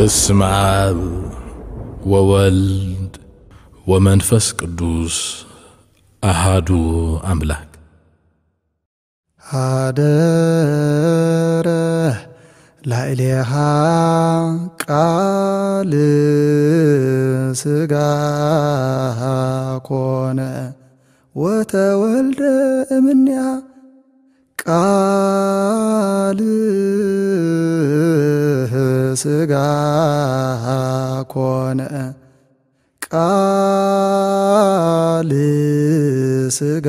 በስመ አብ ወወልድ ወመንፈስ ቅዱስ አሃዱ አምላክ። ሀደረ ላዕሌሃ ቃል ሥጋ ኮነ ወተወልደ እምኔሃ። ቃል ሥጋ ኮነ፣ ቃል ሥጋ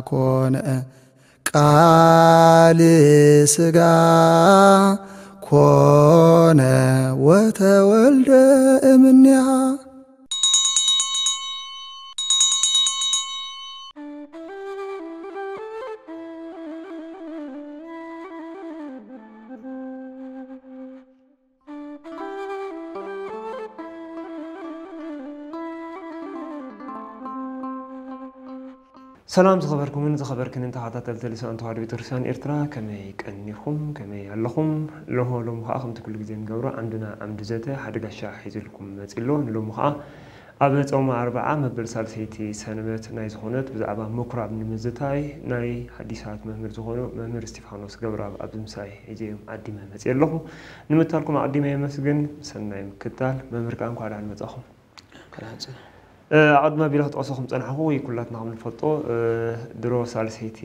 ኮነ፣ ቃል ሥጋ ኮነ ወተወልደ እምኔሃ። ሰላም ዝኸበርኩምን ዝኸበርክንን ተኸታተልቲ ልሳን ተዋህዶ ቤተክርስትያን ኤርትራ፣ ከመይ ቀኒኹም? ከመይ ኣለኹም? ሎሆ ሎሚ ኸዓ ከምቲ ኩሉ ግዜ ንገብሮ ዓምድና ዓምዲ ዘተ ሓደ ጋሻ ሒዝልኩም መጺእ ኣሎ። ንሎሚ ኸዓ ኣብ ጾመ ኣርብዓ መበል ሳልሰይቲ ሰንበት ናይ ዝኾነት ብዛዕባ ምኩራብ ንምዝታይ ናይ ሓዲሳት መምህር ዝኾኑ መምህር እስጢፋኖስ ገብረኣብ ኣብዚ ምሳይ ሒዘዮም ዓዲመ መጺእ ኣለኹ። ንምትካልኩም ኣቐዲመ የመስግን። ሰናይ ምክታል። መምህር ከኣ እንኳዕ ደሓን መጻኹም። ኣቐድሚ ኣቢለ ክጠቕሶ ከም ጸናሕኹ ወይ ኩላትና ከም ንፈልጦ፣ ድሮ ሳልሰይቲ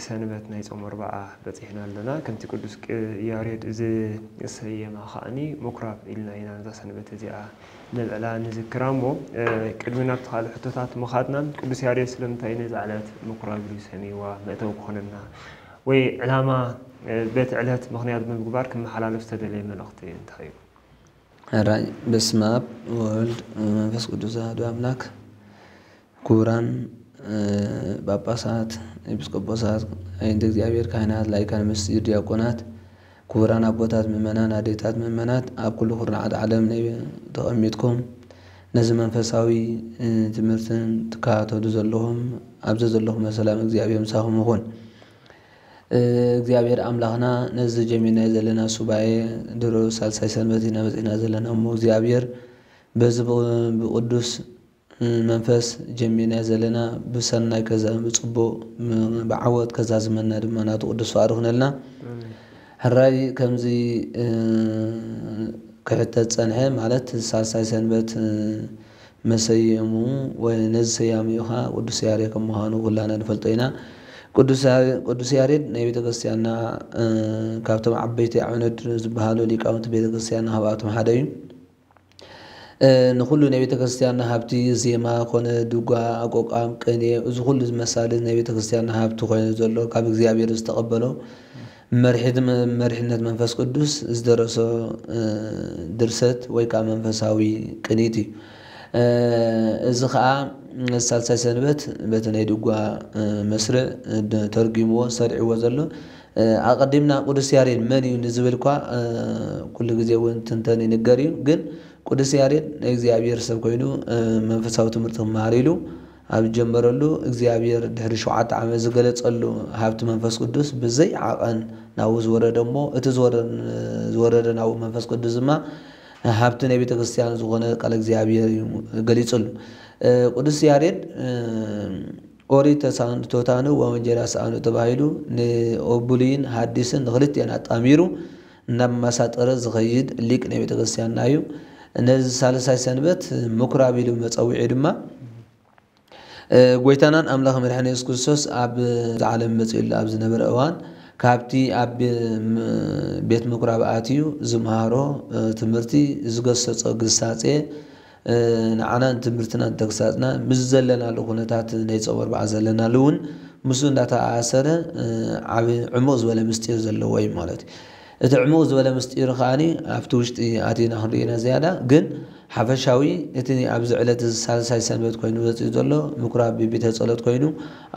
ሰንበት ናይ ጾም ኣርብዓ በጺሕና ኣለና። ከምቲ ቅዱስ ቅ-፣ ያሬድ ዝሰየማ ከኣኒ ምኩራብ ኢልና ኢና ነዛ ሰንበት እዚኣ ነብዕላ ንዝክራ እሞ፣ ቅድሚ ናብቲ ካልእ ሕቶታት ምኻድና ቅዱስ ያሬድ ስለምንታይ ነዛ ዕለት ምኩራብ ኢሉ ሰምይዋ መእተዊ ክኾነና ወይ ዕላማ በቲ ዕለት ምኽንያት ብምግባር ክመሓላለፍ ዝተደለየ መልእኽቲ እንታይ እዩ? ሕራይ በስመ አብ ወወልድ ወመንፈስ ቅዱስ አሐዱ አምላክ። ክቡራን ጳጳሳት፣ ኤጲስቆጶሳት፣ ኣዕይንተ እግዚኣብሔር ካህናት፣ ላይካን ምስጢር ዲያቆናት፣ ክቡራን ኣቦታት ምእመናን፣ ኣዴታት ምእመናት፣ ኣብ ኩሉ ኩርናዓት ዓለም ናይ ተቐሚጥኩም ነዚ መንፈሳዊ ትምህርትን ትከታተሉ ዘለኹም፣ ኣብ ዘዘለኹም ሰላም እግዚኣብሔር ምሳኹም ይኹን። እግዚኣብሔር ኣምላኽና ነዚ ጀሚርናዮ ዘለና ሱባኤ ድሮ ሳልሳይ ሰንበት ኢና በጺሕና ዘለና እሞ እግዚኣብሔር በዚ ብ-፣ ብቅዱስ መንፈስ ጀሚርናዮ ዘለና ብሰናይ ከዛ-፣ ብጽቡቕ ም-፣ ብዓወት ከዛዝመና ድማ ናቱ ቅዱስ ፍቓዱ ይኹነልና። ኣሜን። ሕራይ ከምዚ፣ እ፣ ክሕተት ጸንሐ ማለት ሳልሳይ ሰንበት፣ እ፣ መሰየሙ ወይ ነዚ ሰያሚኡ ኸዓ ቅዱስ ያሬድ ከም ምዃኑ ኩላና ንፈልጦ ኢና። ቅዱስ ያ-፣ ቅዱስ ያሬድ ናይ ቤተ ክርስቲያንና፣ እ፣ ካብቶም ዓበይቲ ኣዕኑድ ዝበሃሉ ሊቃውንቲ ቤተ ክርስቲያንና ካብኣቶም ሓደ እዩ። እ፣ ንኹሉ ናይ ቤተ ክርስቲያንና ሃብቲ ዜማ ኮነ ድጓ፣ ኣቋቋም፣ ቅኔ፣ እዚ ኩሉ ዝመሳሰል ናይ ቤተ ክርስቲያንና ሃብቲ ኮይኑ ዘሎ ካብ እግዚኣብሔር ዝተቐበሎ መሪሕት-፣ መሪሕነት መንፈስ ቅዱስ ዝደረሶ፣ እ፣ ድርሰት ወይ ከዓ መንፈሳዊ ቅኒት እዩ። እ፣ እዚ ከዓ ሳልሳይ ሰንበት በቲ ናይ ድጓ፣ እ፣ መስርዕ፣ እ፣ ደ-፣ ተርጒምዎ፣ ሰሪዕዎ ዘሎ። እ፣ ኣቐዲምና ቅዱስ ያሬድ መን እዩ ንዝብል እኳ፣ እ፣ ኩሉ ግዜ እውን ትንተን ይንገር እዩ። ግን ቅዱስ ያሬድ ናይ እግዚኣብሔር ሰብ ኮይኑ፣ እ፣ መንፈሳዊ ትምህርቲ ክመሃር ኢሉ ኣብ ዝጀመረሉ እግዚኣብሔር ድሕሪ ሸውዓተ ዓመት ዝገለጸሉ ሃብቲ መንፈስ ቅዱስ ብዘይ ዓቐን ናብኡ ዝወረደ እሞ፣ እቲ ዝወረ-፣ ዝወረደ ናብኡ መንፈስ ቅዱስ ድማ ሃብቲ ናይ ቤተ ክርስቲያን ዝኾነ ቃለ እግዚኣብሔር እዩ ገሊጹሉ። እ፣ ቅዱስ ያሬድ፣ እ፣ ኦሪት ተሳእኑ፣ ቶታኑ ወወንጌል ኣሳእኑ ተባሂሉ ንብሉይን ሃዲስን ንክልቲኦን ኣጣሚሩ እናመሳጠረ ዝኸይድ ሊቅ ናይ ቤተ ክርስቲያንና እዩ። ነዚ ሳልሳይ ሰንበት ምኩራብ ኢሉ መጸውዒ ድማ፣ እ፣ ጎይታናን ኣምላኽ መድሓኒ የሱስ ክርስቶስ ኣብ ዓለም መጺኡሉ ኣብ ዝነበረ እዋን ካብቲ ኣብ ም-፣ ቤት ምኩራብ ኣትዩ ዝመሃሮ፣ እ፣ ትምህርቲ ዝገሰጾ ግሳጼ፣ እ፣ ንዓናን ትምህርትናን ተግሳጽና ምስ ዘለናሉ ኩነታት ናይ ጾም ኣርብዓ ዘለናሉ እውን ምስኡ እንዳተኣሳሰረ፣ እ፣ ዓቢ ዕሙቕ ዝበለ ምስጢር ዘለዎ እዩ ማለት እዩ። እቲ ዕሙቕ ዝበለ ምስጢር ከኣኒ ኣብቲ ውሽጢ ኣቲና ክንሪኦ ኢና ዝያዳ፣ ግን ሓፈሻዊ እቲ ኣብዚ ዕለት እዚ ሳልሳይ ሰንበት ኮይኑ ወጺኡ ዘሎ ምኩራብ ቤተ ጸሎት ኮይኑ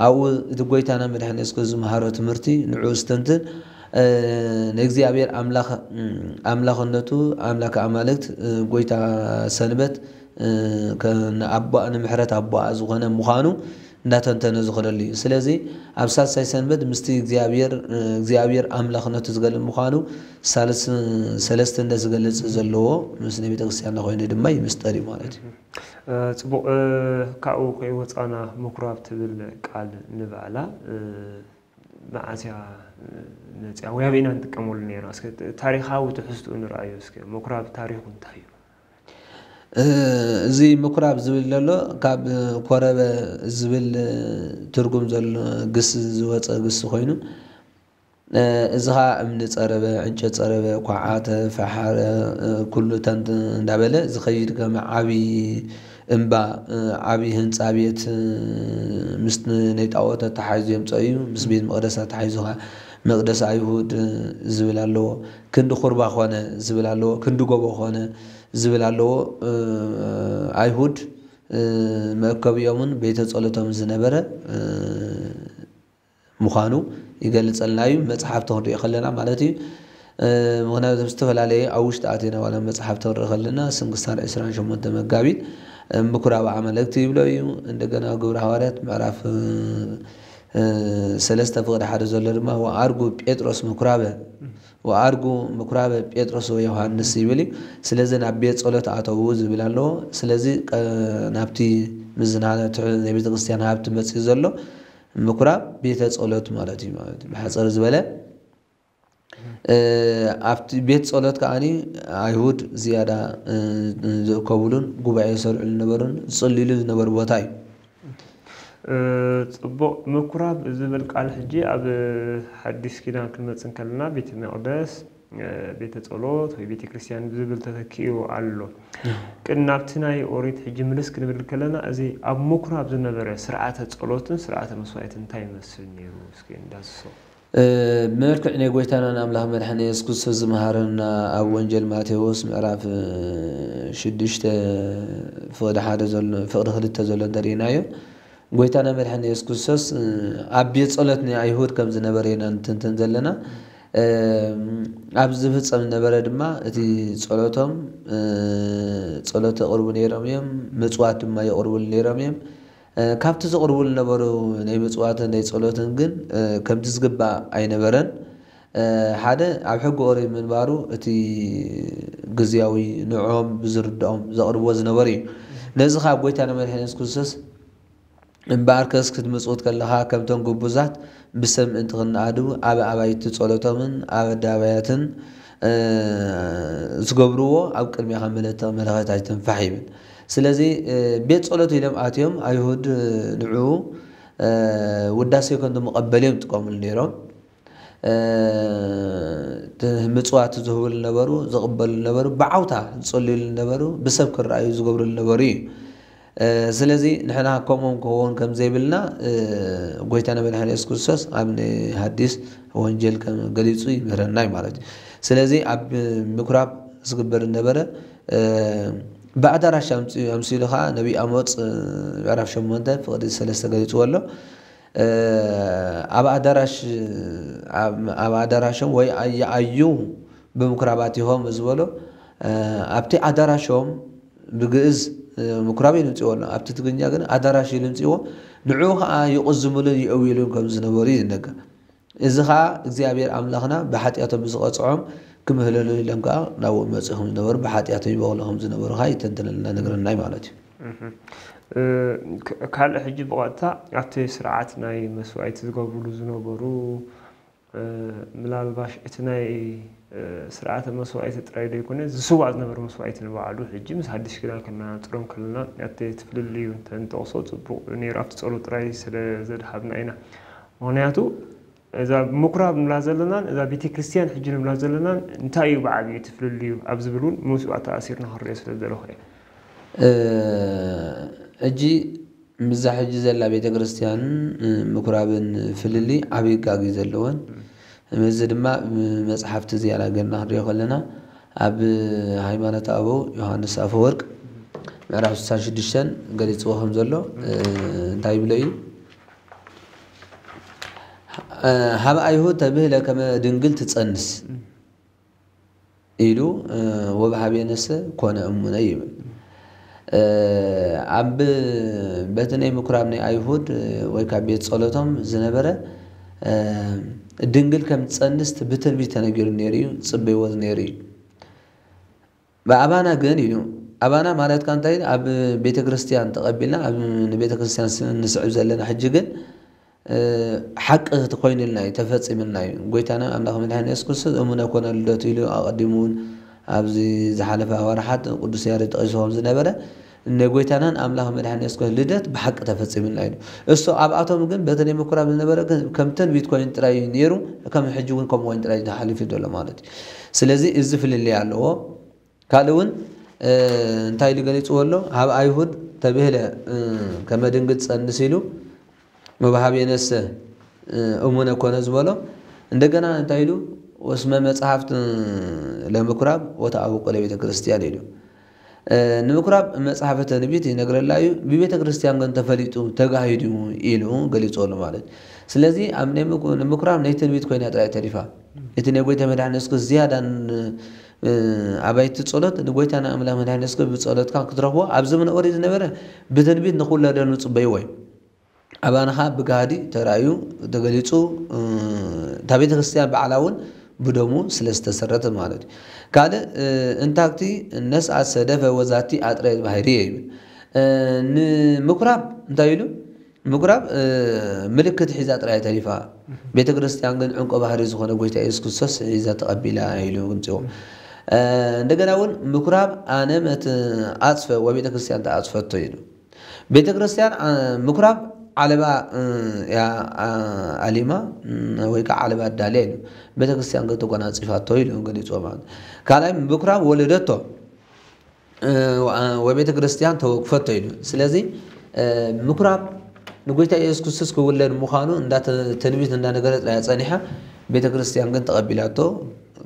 ኣብኡ እቲ ጎይታና መድሓኒ የሱስ ክርስቶስ ዝመሃሮ ትምህርቲ ንዕኡ ዝተንትን፣ እ፣ ንእግዚኣብሔር ኣምላኽ፣ እ፣ ኣምላኽነቱ፣ ኣምላክ ኣማልክት፣ እ፣ ጎይታ ሰንበት፣ እ፣ ከ-፣ ንኣቦኣ፣ ንምሕረት ኣቦኣ ዝኾነ ምዃኑ እንዳተንተነ ዝኸደሉ እዩ። ስለዚ ኣብ ሳልሳይ ሰንበት ምስቲ እግዚኣብሔር እግዚኣብሔር ኣምላኽነቱ ዝገልጽ ምዃኑ ሳልስ ሰለስትነት ዝገልጽ ዘለዎ ምስ ናይ ቤተክርስትያንና ኮይኑ ድማ ይምስጠር እዩ ማለት እዩ። ጽቡቕ። ካብኡ ከይወፃና ምኩራብ ትብል ቃል ንባዕላ መዓስ እያ መፅያ ወይ ኣበይ ኢና ንጥቀመሉ ነይርና? እስከ ታሪኻዊ ትሕዝትኡ ንርኣዮ እስከ። ምኩራብ ታሪኹ እንታይ እዩ? እዚ ምኩራብ ዝብል ዘሎ ካብ ኮረበ ዝብል ትርጉም ዘሎ ግስ ዝወፀ ግስ ኮይኑ እዚ ኸዓ እምኒ ፀረበ፣ ዕንጨት ፀረበ፣ ኳዓተ፣ ፈሓረ፣ ኩሉ ተንት እንዳበለ ዝኸይድ ከም ዓብዪ እምባ፣ ዓብዪ ህንፃ ቤት ምስ ናይ ጣዖት ኣተሓሒዙ የምፀኦ እዩ። ምስ ቤት መቕደስ ኣተሓሒዙ ኸዓ መቕደስ ኣይሁድ ዝብል ኣለዎ። ክንዲ ኹርባ ኾነ ዝብል ኣለዎ። ክንዲ ጎቦ ኾነ ዝብል ኣለዎ። ኣይሁድ መእከቢኦምን ቤተ ጸሎቶም ዝነበረ ምዃኑ ይገልጸልና እዩ። መጽሓፍቲ ክንሪኦ ከለና ማለት እዩ። ምክንያቱ ዝተፈላለየ ኣብ ውሽጢ ኣቴና ዋላ መጽሓፍቲ ክንርኢ ከለና ስንክሳር ዕስራን ሸሞንተ መጋቢት ምኩራብ ኣመለክቲ ይብሎ እዩ። እንደገና ግብረ ሃዋርያት ምዕራፍ ሰለስተ ፍቕዲ ሓደ ዘሎ ድማ ወኣርጉ ጴጥሮስ ምኩራበ ወኣርጉ ምኩራበ ጴጥሮስ ወዮሃንስ ይብል እዩ። ስለዚ ናብ ቤት ጸሎት ኣተዉ ዝብል ኣለዎ። ስለዚ ናብቲ ምዝና ናይ ቤተ ክርስቲያን ሃብቲ መጽዩ ዘሎ ምኩራብ ቤተ ጸሎት ማለት እዩ ማለት እዩ። ብሓጸር ዝበለ ኣብቲ ቤት ጸሎት ከዓኒ ኣይሁድ ዝያዳ ዝእከብሉን ጉባኤ ዝሰርዕሉ ዝነበሩን ዝጽልዩሉ ዝነበሩ ቦታ እዩ። ጽቡቕ። ምኩራብ ዝብል ቃል ሕጂ ኣብ ሓዲስ ኪዳን ክንመጽእ እንከለና ቤተ መቕደስ፣ ቤተ ጸሎት ወይ ቤተ ክርስቲያን ብዝብል ተተኪኡ ኣሎ። ቅን ናብቲ ናይ ኦሪት ሕጂ ምልስ ክንብል ከለና እዚ ኣብ ምኩራብ ዝነበረ ስርዓተ ጸሎትን ስርዓተ መስዋዕትን እንታይ ይመስል ነይሩ? እስኪ እንዳስሶ ብመልክዕ ናይ ጎይታናን ኣምላኽ መድሓኒ የሱስ ክርስቶስ ዝመሃረና ኣብ ወንጀል ማቴዎስ ምዕራፍ ሽዱሽተ ፍቕዲ ሓደ ዘሎ ፍቕዲ ክልተ ዘሎ እንተሪእናዮ ጎይታና መድሓኒ የሱስ ክርስቶስ ኣብ ቤት ጸሎት ናይ ኣይሁድ ከም ዝነበረ ኢና ንትንትን ዘለና። ኣብ ዝፍጸም ነበረ ድማ እቲ ጸሎቶም ጸሎት የቕርቡ ነይሮም እዮም፣ ምጽዋት ድማ የቕርቡሉ ነይሮም እዮም። ካብቲ ዘቕርቡ ዝነበሩ ናይ ምጽዋትን ናይ ጸሎትን ግን ከምቲ ዝግባእ ኣይነበረን። ሓደ ኣብ ሕጊ ኦሪት ምንባሩ እቲ ግዝያዊ ንዕኦም ብዝርድኦም ዘቕርብዎ ዝነበሩ እዩ። ነዚ ካብ ጎይታና መድሓኒ የሱስ ክርስቶስ እምበኣርከስ ክትምጽውት ከለኻ ከምቶም ግቡዛት ብሰብ ምእንቲ ክንኣድው ኣብ ኣባይቲ ጸሎቶምን ኣብ ኣደባባያትን ዝገብርዎ ኣብ ቅድሜኻ መለተ መለኸት ኣይትንፋሕ ይብል። ስለዚ ቤት ጸሎት ኢሎም ኣትዮም ኣይሁድ ንዕኡ ውዳሴ ከም መቐበሊ እዮም ዝጥቀምሉ ነይሮም። ምጽዋት ዝህብሉ ነበሩ፣ ዝቕበሉ ነበሩ፣ ብዓውታ ዝጸልዩሉ ነበሩ፣ ብሰብ ክረኣዩ ዝገብርሉ ነበሩ እዩ። ስለዚ ንሕና ከምኦም ክኸውን ከም ዘይብልና ጎይታና መድሓኒ የሱስ ክርስቶስ ኣብ ናይ ሃዲስ ወንጀል ከም ገሊጹ ይምህረና እዩ ማለት እዩ። ስለዚ ኣብ ምኩራብ ዝግበር ነበረ ብኣዳራሽ ኣምስሉ ከዓ ነቢ ኣሞፅ ምዕራፍ ሸሞንተ ፍቕዲ ሰለስተ ገሊፅዎ ኣሎ። ኣብ ኣዳራሽ ኣብ ኣዳራሾም ወይ ኣየኣዩ ብምኩራባት ይኾም ዝበሎ ኣብቲ ኣዳራሾም ብግእዝ ምኩራብ እዩ ልምፅዎ ኣሎ። ኣብቲ ትግርኛ ግን ኣዳራሽ እዩ ልምፅዎ። ንዕኡ ከዓ ይቕዝምሉን ይእውይሉን ከም ዝነበሩ እዩ ዝነገር። እዚ ኸዓ እግዚኣብሔር ኣምላኽና ብሓጢኣቶም ብዝቐጽዖም ክምህለሉ ኢሎም ከዓ ናብኡ መጺኡ ከም ዝነበሩ ብሓጢኣቶም ይበቕሉ ከም ዝነበሩ ኸዓ ይተንትነልና ነግረናይ ማለት እዩ። ካልእ ሕጂ ብቐጥታ ኣብቲ ስርዓት ናይ መስዋዕቲ ዝገብሩሉ ዝነበሩ ምናልባሽ እቲ ናይ ስርዓተ መስዋዕቲ ጥራይ ዘይኮነ ዝስዋእ ዝነበረ መስዋዕቲ ንባዕሉ ሕጂ ምስ ሓድሽ ኪዳን ከነናጽሮም ከለና እቲ ፍልልዩ እንተንጠቕሶ ጽቡቕ ነይሩ ኣብቲ ጸሎት ጥራይ ስለ ዘድሃብና ኢና። ምኽንያቱ እዛ ምኩራብ ንብላ ዘለናን እዛ ቤተ ክርስቲያን ሕጂ ንብላ ዘለናን እንታይ እዩ ብዓብዩ እቲ ፍልልዩ ኣብ ዝብል እውን ምስኡ ኣተኣሲርና ክንሪኦ ስለ ዝደለኹ እየ። ሕጂ ምዛ ሕጂ ዘላ ቤተ ክርስቲያን ምኩራብን ፍልልይ ዓብዪ ጋግ እዩ ዘለወን። እዚ ድማ መፅሓፍቲ ዝያዳ ገርና ክንሪኦ ከለና ኣብ ሃይማኖት ኣበው ዮሃንስ ኣፈወርቅ ምዕራፍ ስሳ ሽዱሽተ ገሊፅዎ ከም ዘሎ እንታይ ይብሎ እዩ? ሃብ ኣይሁድ ተብህለ ከመ ድንግል ትፀንስ ኢሉ ወበሃቤነሰ ኮነ እሙነ ይብል። ኣብ በቲ ናይ ምኩራብ ናይ ኣይሁድ ወይ ካብ ቤት ጸሎቶም ዝነበረ ድንግል ከም ትጸንስ ብትንቢት ተነጊሩ ነይሩ እዩ፣ ጽበይዎ ነይሩ እዩ። ብኣባና ግን ኢሉ፣ ኣባና ማለት ከ እንታይ? ኣብ ቤተ ክርስቲያን ተቐቢልና፣ ኣብ ንቤተ ክርስቲያን ስ-፣ ንስዕብ ዘለና ሕጂ ግን፣ እ፣ ሓቂ እቲ ኮይኑልና እዩ፣ ተፈጺምልና እዩ። ጎይታና ኣምላኽ መድሓኒ የሱስ ክርስቶስ እሙነ ኮነ ልደቱ ኢሉ ኣቐዲሙ እውን ኣብዚ ዝሓለፈ ኣዋርሓት ቅዱስ ያሬድ ጠቒስዎም ዝነበረ፣ ንጎይታናን ኣምላኽ መድሓኒ የሱስ ክርስቶስ ልደት ብሓቂ ተፈጺምልና ኢሉ። እሱ ኣብኣቶም ግን በቲ ናይ ምኩራብ ዝነበረ ግን ከም ትንቢት ኮይኑ ጥራይ እዩ ነይሩ፣ ከም ሕጂ እውን ከምኡ ኮይኑ ጥራይ እዩ ተሓሊፉ ዘሎ ማለት እዩ። ስለዚ እዚ ፍልልይ ኣለዎ። ካልእ እውን፣ እ፣ እንታይ ኢሉ ገሊጽዎ ኣሎ? "ሃብ ኣይሁድ ተብህለ፣ እ፣ ከመ ድንግል ትጸንስ" ኢሉ፣ "ወበሃብ የነሰ፣ እ፣ እሙነ ኮነ" ዝበሎ። እንደገና እንታይ ኢሉ? "ወስመ መጽሐፍት ለምኩራብ ወተአውቆ ለቤተ ክርስቲያን" ኢሉ። እ፣ ንምኩራብ መጽሓፈ ትንቢት ይነግረላ እዩ፣ ብቤተ ክርስቲያን ግን ተፈሊጡ ተጋሂዱ ኢሉ ገሊጽዎ ኣሎ ማለት እዩ። ስለዚ ኣብ ናይ ምኩ-፣ ንምኩራብ ናይ ትንቢት ኮይና ጥራይ ተሪፋ። እቲ ናይ ጎይታ መድሓኒ እስኩ ዝያዳ ን-፣ እ፣ ኣባይቲ ጸሎት ንጎይታና ኣምላኽ መድሓኒ እስኩ ብጸሎትካ ክትረኽቦ ኣብ ዘመነ ኦሪት ዝነበረ ብትንቢት ንኽውለደሉ ጽበይዎ እዩ። ኣባና ኸኣ ብጋህዲ ተራእዩ ተገሊጹ፣ እ፣ እታ ቤተ ክርስቲያን ባዕላ እውን ብደሙ ስለ ዝተሰረተ ማለት እዩ። ካልእ፣ እ፣ እንታክቲ ነስኣት ሰደፈ ወዛቲ ኣጥረየት ባህርየ ይብል። እ፣ ንምኩራብ እንታይ ኢሉ? ምኩራብ፣ እ፣ ምልክት ሒዛ ጥራይ ተሪፋ። ቤተ ክርስቲያን ግን ዕንቆ ባህሪ ዝኾነ ጎይታ የሱስ ክርስቶስ ሒዛ ተቐቢላ ኢሉ ግምጽዎ። እ፣ እንደገና እውን ምኩራብ ኣነ መት-፣ ኣጽፈ ወቤተ ክርስቲያን ተኣጽፈቶ ኢሉ። ቤተ ክርስቲያን፣ እ፣ ምኩራብ ዓለባ፣ እ፣ እያ፣ እ፣ ኣሊማ፣ እ፣ ወይ ከዓ ዓለባ ኣዳልያ ኢሉ። ቤተ ክርስቲያን ግን ተጎናጺፋቶ ኢሉ ገሊጽዎ ማለት። ካልኣይ ምኩራብ ወለደቶ። እ፣ ወ-፣ ወቤተ ክርስቲያን ተወክፈቶ ኢሉ። ስለዚ፣ እ፣ ምኩራብ ንጎይታ ኢየሱስ ክርስቶስ ክውለድ ምዃኑ እንዳ ተ-፣ ትንቢት እንዳነገረት እያ ጸኒሓ። ቤተ ክርስቲያን ግን ተቐቢላቶ፣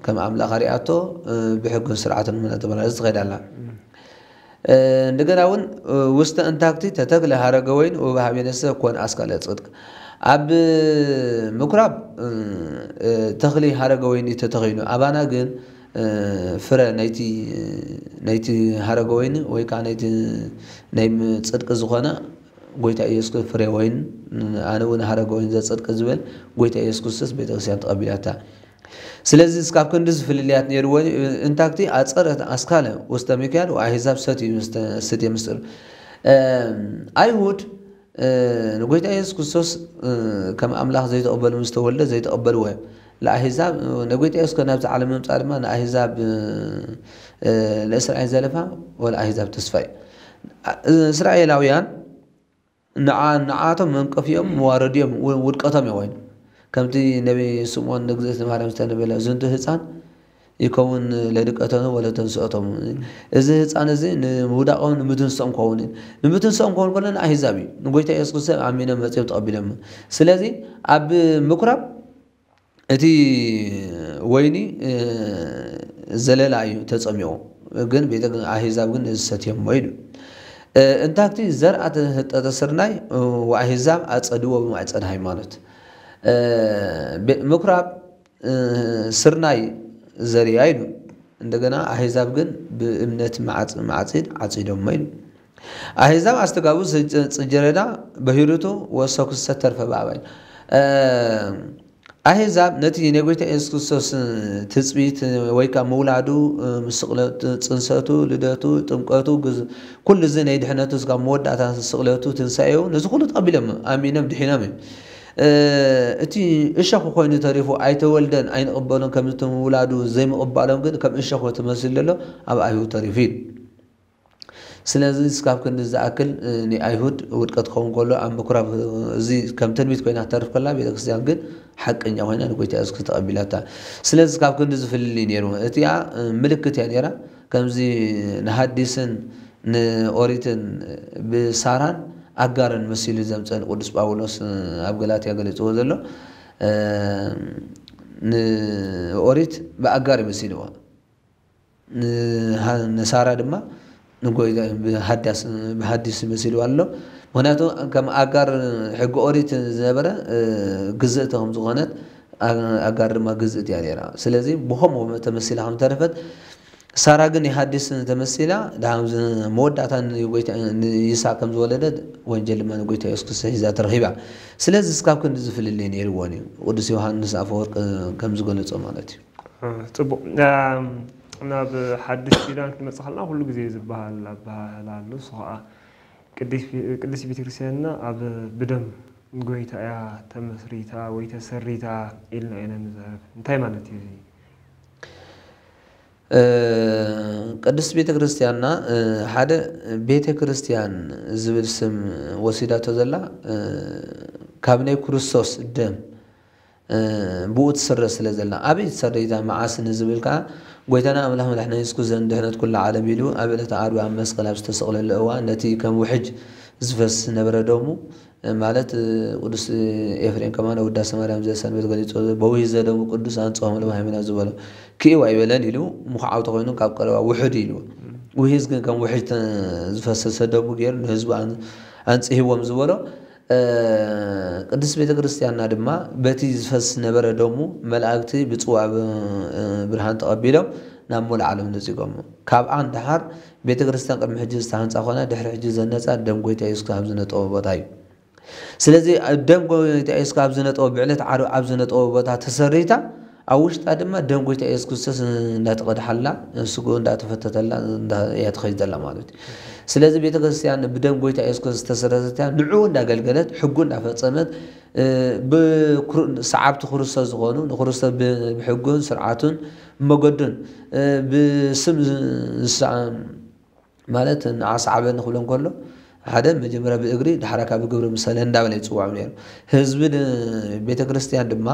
ከም ኣምላኽ ኣሪኣቶ፣ እ፣ ብሕግን ስርዓትን እናተመላለሰት ትኸይድ ኣላ። እ፣ እንደገና እውን፣ እ፣ ውስተ እንታክቲ ተተክለ ሀረገ ወይን ወበሃቤ ነሰ ኮን ኣስካለ ጽድቅ። ኣብ ምኩራብ፣ እ፣ እ፣ ተኽሊ ሀረገ ወይኒ ተተኺሉ፣ ኣባና ግን፣ እ፣ ፍረ ናይቲ፣ ናይቲ ሀረገ ወይኒ ወይ ከዓ ናይቲ ናይ ም-፣ ጽድቂ ዝኾነ ጎይታ ኢየሱስ ፍሬ ወይን፣ ኣነ እውን ሀረገ ወይን ዘጽድቅ ዝብል ጎይታ ኢየሱስ ክርስቶስ ቤተክርስትያን ተቐቢላታ። ስለዚ እስካብ ክንዲ ዝፍልልያት ነይርዎ እዩ። እንታክቲ ኣጸረት ኣስካለ ውስተ ሚካኤል ወኣሕዛብ ሰትዩ ምስተ-፣ ሰትየ ምስጢር። እ፣ ኣይሁድ፣ እ፣ ንጎይታ ኢየሱስ ክርስቶስ፣ እ፣ ከም ኣምላኽ ዘይተቐበሉ ምስ ተወልደ ዘይተቐበልዎ እዮም። ለኣሕዛብ፣ እ፣ ንጎይታ ኢየሱስ ናብዚ ዓለም ምምጻእ ድማ ንኣሕዛብ፣ እ፣ እ፣ ለእስራኤል ዘለፋ ወለኣሕዛብ ተስፋ እዩ። እ፣ እስራኤላውያን ንዓ-፣ ንዓቶም መንቀፊኦም መዋረዲኦም ው-፣ ውድቀቶም እዩ ኮይኑ። ከምቲ ነቢ ስምዖን ንእግዝእትነ ማርያም ዝተነበለ፣ "ዝንቱ ህፃን ይከውን ለድቀተኑ ወለተንስኦቶም።" እዚ ህፃን እዚ ንምውዳቆም ንምትንስኦም ክኸውን እዩ። ንምትንስኦም ክኸውን ከሎ ንኣህዛብ እዩ። ንጎይታ ኢየሱስ ክርስቶስ ኣሚኖም መፅዮም ተቐቢሎም። ስለዚ ኣብ ምኩራብ እቲ ወይኒ፣ እ፣ ዘለላ እዩ ተጸሚቑ። ግን ቤተ ኣህዛብ ግን ነዚ ሰትዮሞ ኢሉ። እ፣ እንታክቲ ዘርኣ ተህጠጠ ስርናይ፣ እ፣ ወኣህዛብ ኣጸድዎ ብማዕጸን ሃይማኖት። እ፣ ቤ-፣ ምኩራብ፣ እ፣ ስርናይ ዘርያ ኢሉ። እንደገና ኣህዛብ ግን ብእምነት ማዕጽ-፣ ማዕጺድ ዓጺዶሞ ኢሉ። ኣህዛብ ኣስተጋቡ ጽ-፣ ጽ-፣ ጽጀረዳ በሂሩቱ ወሰኩሰ ተርፈ ባባይ። እ፣ ኣህዛብ ነቲ ናይ ጎይታ የሱስ ክርስቶስ ትጽቢት ወይ ከኣ ምውላዱ፣ እ፣ ስቕለቱ፣ ጽንሰቱ፣ ልደቱ፣ ጥምቀቱ፣ ግዝ-፣ ኩሉ እዚ ናይ ድሕነቱ እስካብ መወዳእታ ስቕለቱ፣ ትንሳኤኡ፣ ነዚ ኩሉ ተቐቢሎም ኣሚኖም ድሒኖም እዮም። እ፣ እቲ እሾኽ ኮይኑ ተሪፉ ኣይተወልደን ኣይንቕበሎን ከምቲ ምውላዱ ዘይምቕባሎም ግን ከም እሾኽ ተመሲሉ ዘሎ ኣብ ኣይሁድ ተሪፉ እዩ። ስለዚ እስካብ ክንዲ ዝኣክል፣ እ፣ ንኣይሁድ ውድቀት ክኸውን ከሎ ኣብ ምኩራብ፣ እ፣ እዚ ከም ትንቢት ኮይና ክትተርፍ ከላ ቤተክርስትያን ግን ሓቀኛ ኮይና ንጎይታ የሱስ ተቐቢላታ። ስለዚ እስካብ ክንዲ ዝፍልልይ ነይሩ። እቲኣ፣ እ፣ ምልክት እያ ነይራ። ከምዚ ንሃዲስን ንኦሪትን ብሳራን ኣጋርን መሲሉ ዘምፀን ቅዱስ ጳውሎስ፣ እ፣ ኣብ ገላትያ ገሊፅዎ ዘሎ፣ እ፣ ንኦሪት ብኣጋር ይመሲልዋ። ንሃ-፣ ንሳራ ድማ ንጎይታ ብሃዳስ-፣ ብሃዲስ መሲልዋ ኣሎ። ምኽንያቱ ከም ኣጋር ሕጊ ኦሪት ዝነበረ፣ እ፣ ግዝእቲ ከም ዝኾነት፣ ኣ-፣ ኣጋር ድማ ግዝእቲ እያ ነይራ። ስለዚ ብኸምኡ ተመሲላ ከም ተረፈት፣ ሳራ ግን የሃዲስ ተመሲላ፣ ደሓን ዝ-፣ መወዳእታ ንጎይታ-፣ ንይስሐቅ ከም ዝወለደት ወንጀል ድማ ንጎይታ የሱስ ክርስቶስ ሒዛ ተረኺባ። ስለዚ እስካብ ክንዲ ዝፍልልይ ነይርዎን እዩ። ቅዱስ ዮሃንስ ኣፈወርቅ ከም ዝገለጾ ማለት እዩ። እ፣ ጽቡቕ። እም፣ ናብ ሓድሽ ኪዳን ክንመጽእ ከለና ኩሉ ግዜ ዝበሃል ኣበሃህላ ኣሎ። እሱ ኸኣ ቅድስ-፣ ቅድስት ቤተክርስትያንና ኣብ ብደም ጎይታ እያ ተመስሪታ ወይ ተሰሪታ ኢልና ኢና ንዛረብ። እንታይ ማለት እዩ እዚ? እ፣ ቅድስት ቤተክርስትያንና፣ እ፣ ሓደ ቤተክርስትያን ዝብል ስም ወሲዳቶ ዘላ፣ እ፣ ካብ ናይ ክርስቶስ ደም፣ እ፣ ብኡ ትስረ ስለ ዘላ። ኣበይ ትሰረይታ መዓስ ንዝብል ከኣ፣ ጎይታና ኣምላኽ መድሓኒና የሱስ ክርስቶስ ንድሕነት ኩላ ዓለም ኢሉ ኣብ ዕለተ ዓርቢ ኣብ መስቀል ኣብ ዝተሰቕለሉ እዋን ነቲ ከም ውሕጅ ዝፈስ ዝነበረ ደሙ፣ ማለት፣ ቅዱስ ኤፍሬም ከማን ውዳሴ ማርያም ዘሰንበት ገሊጹ፣ "በውሂዘ ደሙ ቅዱስ አንጽሖሙ ለማህበና" ዝበሎ፣ "ክእው ኣይበለን" ኢሉ ምኹዓው ተኾይኑ ካብ ቀረባ ውሑድ ኢልዎ። ውሂዝ ግን ከም ውሕጅ ተ-፣ ዝፈሰሰ ደሙ ገይሩ ንህዝቡ ኣን-፣ ኣንጽህዎም ዝበሎ፣ እ፣ ቅድስት ቤተ ክርስቲያንና ድማ በቲ ዝፈስ ዝነበረ ደሙ መላእክቲ ብጽዋ ብ-፣ እ፣ ብርሃን ተቐቢሎም ናብ ሙሉእ ዓለም ነጺጎሞ። ካብኣ ንደሓር ቤተ ክርስቲያን ቅድሚ ሕጂ ዝተሃንጻ ኮና ድሕሪ ሕጂ ዘነጻ ደም ጎይታ የሱስ ኣብ ዝነጠቦ ቦታ እዩ። ስለዚ ደም ጎይታ የሱስ ኣብ ዝነጠቦ፣ ብዕለት ዓርቢ ኣብ ዝነጠቦ ቦታ ተሰሪታ፣ ኣብ ውሽጣ ድማ ደም ጎይታ የሱስ ክርስቶስ እንዳተቐድሓላ፣ ስግኡ እንዳተፈተተላ እንዳ-፣ እያ ትኸይድ ዘላ ማለት እዩ። ስለዚ ቤተ ክርስቲያን ብደም ጎይታ የሱስ ክርስቶስ ዝተሰረተት እያ፣ ንዕኡ እንዳገልገለት፣ ሕጉ እንዳፈጸመት፣ እ፣ ብክሩ-፣ ሰዓብቲ ክርስቶስ ዝኾኑ፣ ንክርስቶስ ብ-፣ ብሕጉን ስርዓቱን መገዱን፣ እ፣ ብስም ዝ-፣ ዝሰ-፣ ማለት ንዓ ሰዓበኒ ክብሎ እንከሎ፣ ሓደ መጀመርያ ብእግሪ፣ ድሓር ካብ ብግብሪ ምሰለ እንዳበለ ይጽውዖም ነይሩ። ህዝቢ ን-፣ ቤተ ክርስቲያን ድማ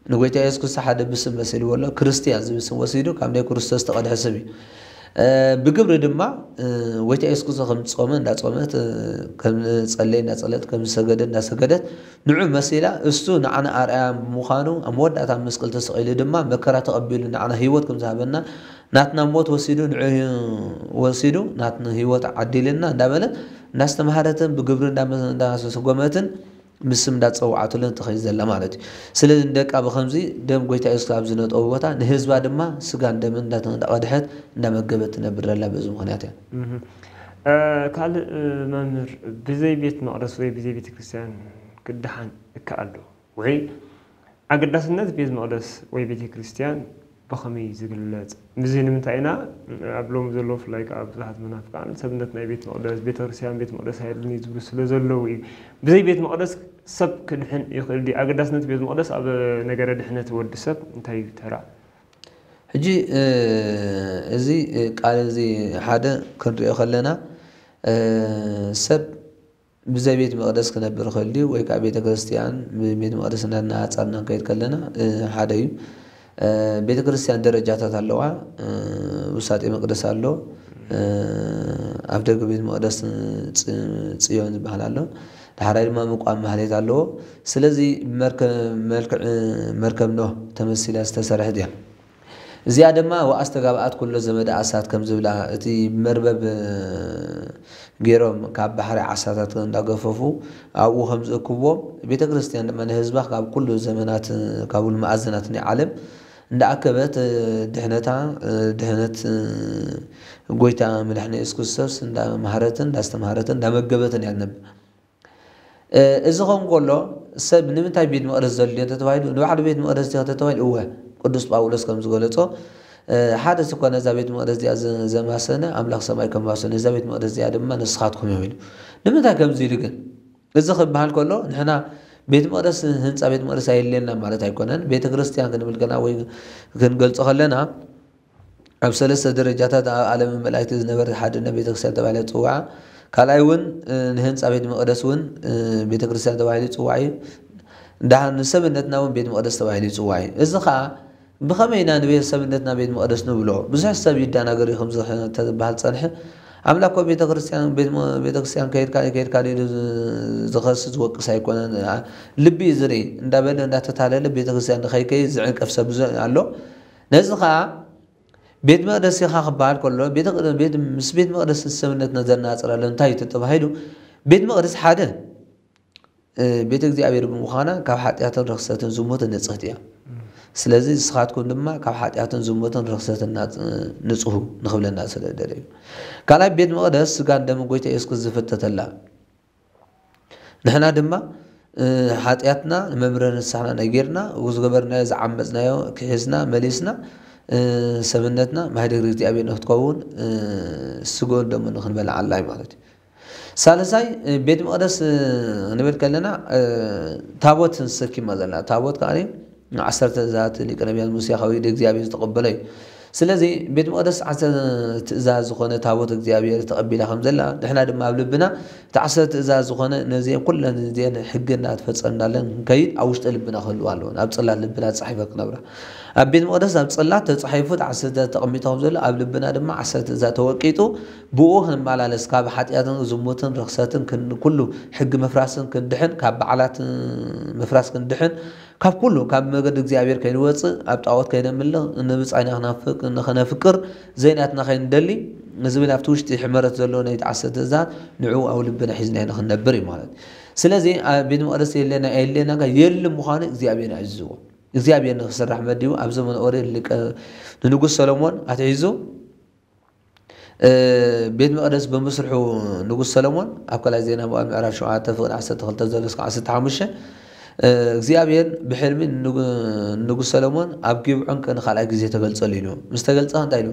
ንጎይታ የሱስ ክርስቶስ ሓደ ብስም መሲልዎ ኣሎ። ክርስቲያን ዝብል ስም ወሲዱ ካብ ናይ ክርስቶስ ዝተቐድሐ ስም እዩ። እ፣ ብግብሪ ድማ፣ እ፣ ጎይታ የሱስ ክርስቶስ ከም ዝጾመ እንዳጾመት፣ እ፣ ከም ዝጸለየ እንዳጸለት፣ ከም ዝሰገደ እንዳሰገደት፣ ንዑ መሲላ፣ እሱ ንዓና ኣርኣያ ብምዃኑ፣ ኣብ መወዳእታ ኣብ መስቀል ተሰቒሉ ድማ መከራ ተቐቢሉ ንዓና ህይወት ከም ዝሃበና፣ ናትና ሞት ወሲዱ፣ ንዑ ወሲዱ፣ ናትና ህይወት ዓዲልና እንዳበለት፣ እንዳስተምሃረትን ብግብሪ እንዳመ-፣ እንዳሰጎመትን፣ ብስም እንዳጸውዓትሉን ትኸይድ ዘላ ማለት እዩ። ስለዚ ንደቃ ብኸምዚ ደም ጎይታ የሱስ ኣብ ዝነጠቦ ቦታ፣ ንህዝባ ድማ ስጋን ደምን እንዳተ-፣ እንዳቐድሐት፣ እንዳመገበት ትነብር ዘላ በዚ ምኽንያት እያ። እህ። እ፣ ካልእ፣ እ፣ መምህር፣ ብዘይ ቤት መቕደስ ወይ ብዘይ ቤተ ክርስቲያን ክደሓን ይከኣል ዶ? ወይ ኣገዳስነት ቤት መቕደስ ወይ ቤተ ክርስቲያን ብኸመይ ዝግለጽ? ምስዚ ንምንታይ ኢና ኣብ ሎሚ ዘሎ፣ ብፍላይ ከኣ ብዙሓት መናፍቃን ሰብነት ናይ ቤት መቕደስ፣ ቤተ ክርስቲያን ቤት መቕደስ ኣይብልን እዩ ዝብሉ ስለ ዘለዉ እዩ። ብዘይ ቤት መቕደስ ሰብ ክድሕን ይኽእል ድዩ? ኣገዳስነት ቤት መቕደስ ኣብ ነገረ ድሕነት ወዲ ሰብ እንታይ እዩ ተራ? ሕጂ፣ እ፣ እዚ፣ እ፣ ቃል እዚ ሓደ ክንሪኦ ከለና፣ እ፣ ሰብ ብዘይ ቤት መቕደስ ክነብር ይኽእል ድዩ? ወይ ከኣ ቤተ ክርስቲያን ብቤት መቕደስ እናነጻጸርና ክንከይድ ከለና፣ እ፣ ሓደ እዩ። እ፣ ቤተ ክርስቲያን ደረጃታት ኣለዋ። እ፣ ውሳጤ መቕደስ ኣሎ። እ፣ ኣፍ ደገ ቤት መቕደስ ጽ-፣ ጽዮን ዝበሃል ኣሎ። ዳሕራይ ድማ ምቋም ማህሌት ኣለዎ። ስለዚ መርከ-፣ መልክዕ መርከብ ኖህ ተመሲላ ዝተሰርሐት እያ። እዚኣ ድማ ወኣስተጋብኣት ኩሎ ዘመደ ኣሳት ከም ዝብላ፣ እቲ መርበብ፣ እ፣ ገይሮም ካብ ባሕሪ ዓሳታት እንዳገፈፉ ኣብኡ ከም ዝእክብዎም፣ ቤተ ክርስቲያን ድማ ንህዝባ ካብ ኩሉ ዘመናት፣ እ፣ ካብ ኩሉ መኣዝናት ናይ ዓለም እንዳኣከበት፣ እ፣ ድሕነታ፣ እ፣ ድሕነት፣ እ፣ ጎይታ መድሓኒ የሱስ ክርስቶስ እንዳመሃረትን እንዳስተምሃረትን እንዳመገበትን እያ ትነብር። እ፣ እዚ ኸውን ከሎ፣ ሰብ ንምንታይ ቤት መቕደስ ዘድልዮ እንተተባሂሉ፣ ንባዕሉ ቤት መቕደስ ድዩ ተተባሂሉ፣ እወ፣ ቅዱስ ጳውሎስ ከም ዝገለጾ፣ እ፣ ሓደ ስኳ ነዛ ቤት መቕደስ እዚኣ ዘ-፣ ዘማሰነ፣ ኣምላኽ ሰማይ ከማስኖ፣ ነዛ ቤት መቕደስ እዚኣ ድማ ንስኻትኩም እዮም ኢሉ። ንምንታይ ከምዚ ኢሉ ግን? እዚ ክበሃል ከሎ፣ ንሕና ቤት መቕደስ፣ ህንጻ ቤት መቕደስ ኣየድልየና ማለት ኣይኮነን። ቤተ ክርስቲያን ክንብል ከለና ወይ ክንገልጾ ከለና፣ ኣብ ሰለስተ ደረጃታት ኣብ ዓለምን መላእክትን ዝነበረት ሓድነት ቤተክርስትያን ተባሂላ ትጽዋዕ። ካልኣይ እውን፣ እ፣ ንህንጻ ቤት መቕደስ እውን፣ እ፣ ቤተክርስትያን ተባሂሉ ይጽዋዕ እዩ። ደሓር ንሰብነትና እውን ቤት መቕደስ ተባሂሉ ይጽዋዕ እዩ። እዚ ኸኣ ብኸመይ ኢና ንቤት ሰብነትና ቤት መቕደስ ንብሎ? ብዙሕ ሰብ ይደናገር እዩ ከምዚ ተዝበሃል ጸንሐ። ኣምላኽ እኮ ቤተክርስትያን፣ ቤት መ-፣ ቤተክርስትያን ከይድካ፣ ከይድካ ኢሉ ዝ-፣ ዝኸስስ ዝወቅስ ኣይኮነን። ኣ-፣ ልቢ እዩ ዝርኢ። እንዳበለ እንዳተታለለ ቤተክርስትያን ንኸይከይድ ዝዕንቀፍ ሰብ ብዙሕ ኣሎ። ነዚ ኸኣ ቤት መቕደስ ኢኻ ክበሃል ከሎ፣ ቤተ-፣ ቤት-፣ ምስ ቤት መቕደስ ሰብነትና ዘነጻጽር ኣሎ። እንታይ እዩ ተባሂሉ? ቤት መቕደስ ሓደ፣ እ፣ ቤተ እግዚኣብሔር ብምዃና ካብ ሓጢኣትን ርኽሰትን ዝሙትን ንጽህቲ እያ። እም። ስለዚ ንስኻትኩም ድማ ካብ ሓጢኣትን ዝሙትን ርኽሰትን ናጽ-፣ ንጽሁ ንኽብለና ስለ ደለዩ። ካልኣይ፣ ቤት መቕደስ ስጋን ደምን ጎይታ የሱስ ክርስቶስ ዝፍተተላ። ንሕና ድማ፣ እ፣ ሓጢኣትና ንመምህረ ንስሓና ነጊርና፣ ዝገበርናዮ ዝዓመጽናዮ ክሒስና መሊስና፣ እ፣ ሰብነትና ማህደር እግዚኣብሔር ንክትከውን፣ እ፣ ስግኡን ደሙን ንኽንበልዓ ኣላ እዩ ማለት እዩ። ሳልሳይ፣ እ፣ ቤት መቕደስ፣ እ፣ ክንብል ከለና፣ እ፣ ታቦት ንሰኪማ ዘላ። ታቦት ከኣ ዓሰርተ ትእዛዛት ሊቀ ነቢያት ሙሴ ካብ ኢድ እግዚኣብሔር ዝተቐበሎ እዩ። ስለዚ ቤት መቕደስ ዓሰርተ ትእዛዝ ዝኾነ ታቦት እግዚኣብሔር ተቐቢላ ከም ዘላ፣ ንሕና ድማ ኣብ ልብና እቲ ዓሰርተ ትእዛዝ ዝኾነ ነዚአን ኩለን እዚአን ሕጊ እናተፈጸምናለን ክንከይድ ኣብ ውሽጢ ልብና ክህልዋ ኣለወን። ኣብ ጽላት ልብና ተጻሒፈን ክነብራ። ኣብ ቤት መቕደስ ኣብ ጽላት ተጻሒፉ እቲ ዓሰርተ ትእዛዝ ተቐሚጡ ከም ዘሎ ኣብ ልብና ድማ ዓሰርተ ትእዛዝ ተወቂጡ ብኡ ክንመላለስ ካብ ሓጢኣትን ዝሙትን ርኽሰትን ክን-፣ ኩሉ ሕጊ ምፍራስን ክንድሕን ካብ በዓላት ምፍራስ ክንድሕን ካብ ኩሉ ካብ መገዲ እግዚኣብሔር ከይንወጽእ፣ ኣብ ጣዖት ከይነምልኽ፣ ንብጻይና ክናፍቅ-፣ ንኸነፍቅር፣ ዘይናትና ከይንደሊ፣ ዝብል ኣብቲ ውሽጢ ሕመረት ዘሎ ናይ ተዓሰ ትእዛዝ ንዕኡ ኣብ ልብና ሒዝና ኢና ክንነብር እዩ ማለት እዩ። ስለዚ ኣብ ቤት መቕደስ የለና የለና ጋር የለ ምዃኑ እግዚኣብሔር ኣዕዝዎ። እግዚኣብሔር ንክስራሕ መዲቡ ኣብ ዘመነ ኦሪት ልቀ-፣ ንንጉስ ሰሎሞን ኣትሒዙ እ፣ ቤት መቕደስ ብምስርሑ ንጉስ ሰሎሞን ኣብ ካልኣይ ዜና መዋዕል ምዕራፍ ሸውዓተ ፍቕዲ ዓሰርተ ክልተ ዘሎ እስከ ዓሰርተ ሓሙሽተ፣ እ፣ እግዚኣብሔር ብሕልሚ ንጉ-፣ ንጉስ ሰሎሞን ኣብ ጊብዖን ከ ንኻልኣይ ግዜ ተገልጸሉ ኢሉ። ምስ ተገልጸ እንታይ ኢሉ?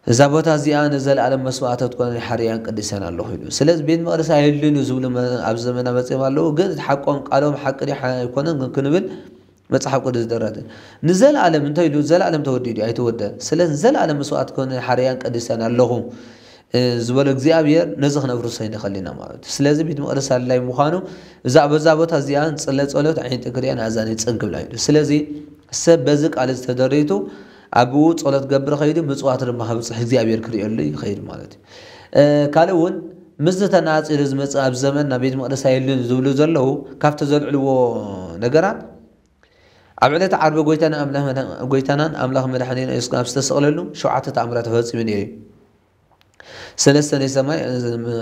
"እዛ ቦታ እዚኣ ንዘለኣለም መስዋእቲ ትኮነ ሓርያን ቅድስያን ኣለኹ" ኢሉ። ስለዚ ቤት መቕደስ ኣየድልን እዩ ዝብሉ መ-፣ ኣብዚ ዘመና መጺኦም ኣለዉ። ግን እቲ ሓቆም ቃሎም ሓቂ ድዩ ሓ-፣ ኣይኮነን ግን ክንብል መጽሓፍ ቅዱስ ዝደረተ ንዘለኣለም እንታይ ኢሉ? ዘላለም ተወዲኡ ድዩ? ኣይተወደ። ስለዚ ንዘለኣለም መስዋእቲ ኮነ ሓርያን ቅድስያን ኣለኹ፣ እ፣ ዝበሎ እግዚኣብሔር ነዚ ክነፍርሶ ይንኽእል ኢና ማለት እዩ። ስለዚ ቤት መቕደስ ኣድላይ ምዃኑ እዛ፣ በዛ ቦታ እዚኣ ንጽለ ጸሎት፣ ኣዒንቲ ክሪኣን ኣእዛነይ ጽን ክብላ እዩ። ስለዚ ሰብ በዚ ቃል እዚ ተደሪቱ ኣብኡ ጸሎት ገብር ኸይዱ ምጽዋት ድማ ከብጽሕ እግዚኣብሔር ክርእየሉ ይኸይድ ማለት እዩ። እ፣ ካልእ እውን ምስዚ ተነጻጺሩ ዝመጽእ ኣብ ዘመንና ቤት መቕደስ ኣየድልን ዝብሉ ዘለዉ ካብቲ ዘልዕልዎ ነገራት ኣብ ዕለተ ዓርቢ ጎይታና ኣምላኽ መድሃ-፣ ጎይታናን ኣምላኽ መድሓኒና የሱስ ኣብ ዝተሰቕለሉ ሸውዓተ ተኣምራት ተፈጺሙ ነይሩ እዩ። ሰለስተ ናይ ሰማይ፣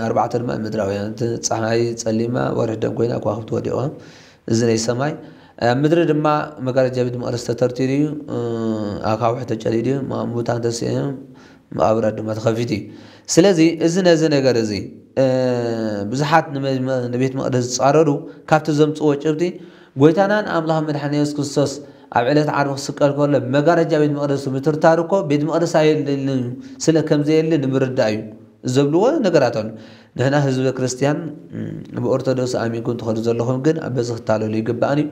ኣርባዕተ ድማ ምድራውያን። እቲ ጸሓይ ጸሊማ፣ ወርሒ ደም ኮይና፣ ከዋኽብቲ ወዲቖም። እዚ ናይ ሰማይ። ኣብ ምድሪ ድማ መጋረጃ ቤት መቕደስ ተተርቲሩ እዩ። ኣኻውሕ ተጨዲዱ እዩ። ማ-፣ ሙታን ተስዮም፣ መቓብራት ድማ ተኸፊቱ እዩ። ስለዚ እዚ ነዚ ነገር እዚ፣ እ፣ ብዙሓት ንመ-፣ ንቤት መቕደስ ዝጻረሩ ካብቲ ዘምጽዎ ጭብጢ ጎይታናን ኣምላኽ መድሓኒ የሱስ ክርስቶስ ኣብ ዕለት ዓርቢ ክስቀል ከሎ መጋረጃ ቤት መቕደስ ምትርታሩ እኮ ቤት መቕደስ ኣየድልን እዩ፣ ስለ ከም ዘየለ ንምርዳእ እዩ ዘብልዎ ነገራት ኣሎ። ንሕና ህዝበ ክርስትያን፣ እም፣ ብኦርቶዶክስ ኣሚንኩም ትኸዱ ዘለኹም ግን በዚ ክታለሉ ይግባእን እዩ።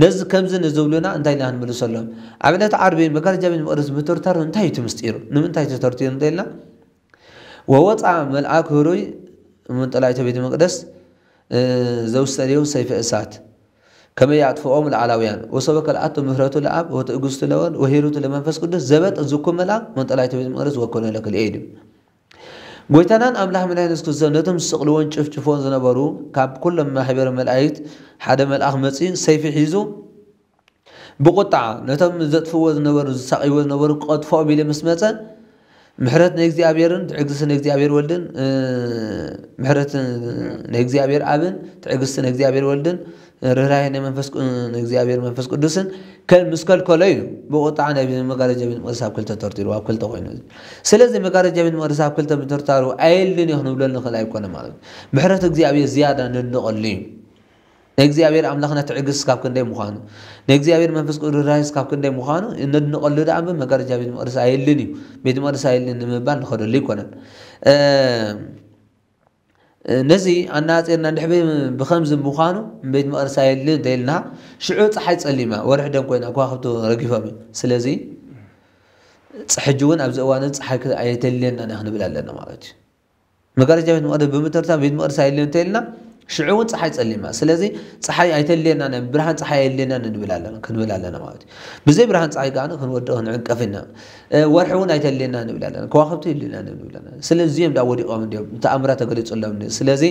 ነዚ ከምዚ ንዝብሉና እንታይ ኢልና ክንምልሰሎም? ኣብ ዕለት ዓርቢ መጋረጃ ቤት መቕደስ ምትርታሩ እንታይ እዩ እቲ ምስጢሩ? ንምንታይ ተተርቲሩ እንተኢልና፣ "ወወፃ መልኣክ ህሩይ መንጠላይተ ቤተ መቅደስ፣ እ፣ ዘውሰድዮ ሰይፈ እሳት፣ ከመ ያጥፍኦም ለዓላውያን፣ ወሰበከ ለኣቱ ምህረቱ ለኣብ፣ ወትዕግስቱ ለወልድ፣ ወሂሩቱ ለመንፈስ ቅዱስ፣ ዘበጥ ዝኩ መልኣክ መንጠላይተ ቤተ መቅደስ ወኮነ ለክልኤ" ኢሉ። ጎይታናን ኣምላኽ መድኃኒት የሱስ ክርስቶስ ነቶም ዝስቕልዎን ጭፍጭፍዎን ዝነበሩ ካብ ኩሎም ማሕበረ መላእክት ሓደ መልኣክ መጺኡ ሰይፊ ሒዙ ብቁጣ ነቶም ዘጥፍእዎ ዝነበሩ፣ ዝሳቐይዎ ዝነበሩ ክቐጥፍኦም ኢሉ ምስ መጸ፣ ምሕረት ናይ እግዚኣብሔርን ትዕግስቲ ናይ እግዚኣብሔር ወልድን፣ እ፣ ምሕረት ናይ እግዚኣብሔር ኣብን ትዕግስቲ ናይ እግዚኣብሔር ወልድን ርህራሄ ናይ መንፈስ ቅዱስ፣ ናይ እግዚኣብሔር መንፈስ ቅዱስን ከ-፣ ምስ ከልከሎ እዩ ብቁጣ ናይ መጋረጃ ቤት መቅደስ ኣብ ክልተ ተርቲሩ፣ ኣብ ክልተ ኮይኑ። ስለዚ መጋረጃ ቤት መቅደስ ኣብ ክልተ ምትርታሩ ኣየልን እዩ ክንብሎ ንኽእል ኣይኮነ ማለት እዩ። ምሕረት እግዚኣብሔር ዝያዳ ነድንቐሉ እዩ። ናይ እግዚኣብሔር ኣምላኽና ትዕግስቲ ካብ ክንደይ ምዃኑ፣ ናይ እግዚኣብሔር መንፈስ ቅዱስ ርህራሄ ካብ ክንደይ ምዃኑ ነድንቐሉ ደኣ እምበር መጋረጃ ቤት መቅደስ ኣየልን እዩ፣ ቤት መቅደስ ኣየልን ንምባል ንኸደሉ ኣይኮነን። እ፣ ነዚ ኣነጻጺርና እንድሕር ብ-፣ ብኸምዚ ምዃኑ ቤት መቕደስ ኣየድልን እንተኢልና፣ ሽዑ ጸሓይ ጸሊማ፣ ወርሒ ደም ኮይና፣ ከዋኽብቲ ረጊፎም እዮም። ስለዚ፣ ጽ-፣ ሕጂ እውን ኣብዚ እዋን እዚ ጸሓይ ክ-፣ ኣይተልየናን ኢና ክንብል ኣለና ማለት እዩ። መጋረጃ ቤት መቕደስ ብምትርታር ቤት መቕደስ ኣየድልን እንተኢልና፣ ሽዑ እውን ጸሓይ ጸሊማ። ስለዚ፣ ጸሓይ ኣይተልየናን፣ ብርሃን ጸሓይ ኣየድልየናን ንብል ኣለና፣ ክንብል ኣለና ማለት እዩ። ብዘይ ብርሃን ጸሓይ ከኣ ክንወድቕ፣ ክንዕንቀፍ ኢና። እ፣ ወርሒ እውን ኣይተልየና ንብል ኣለና፣ ከዋኽብቲ የድልየና ንብል ኣለና። ስለዚ እዚኦም ደኣ ወዲቖም እንድዮም፣ ተኣምራት ተገሊጹሎም እንድዩ። ስለዚ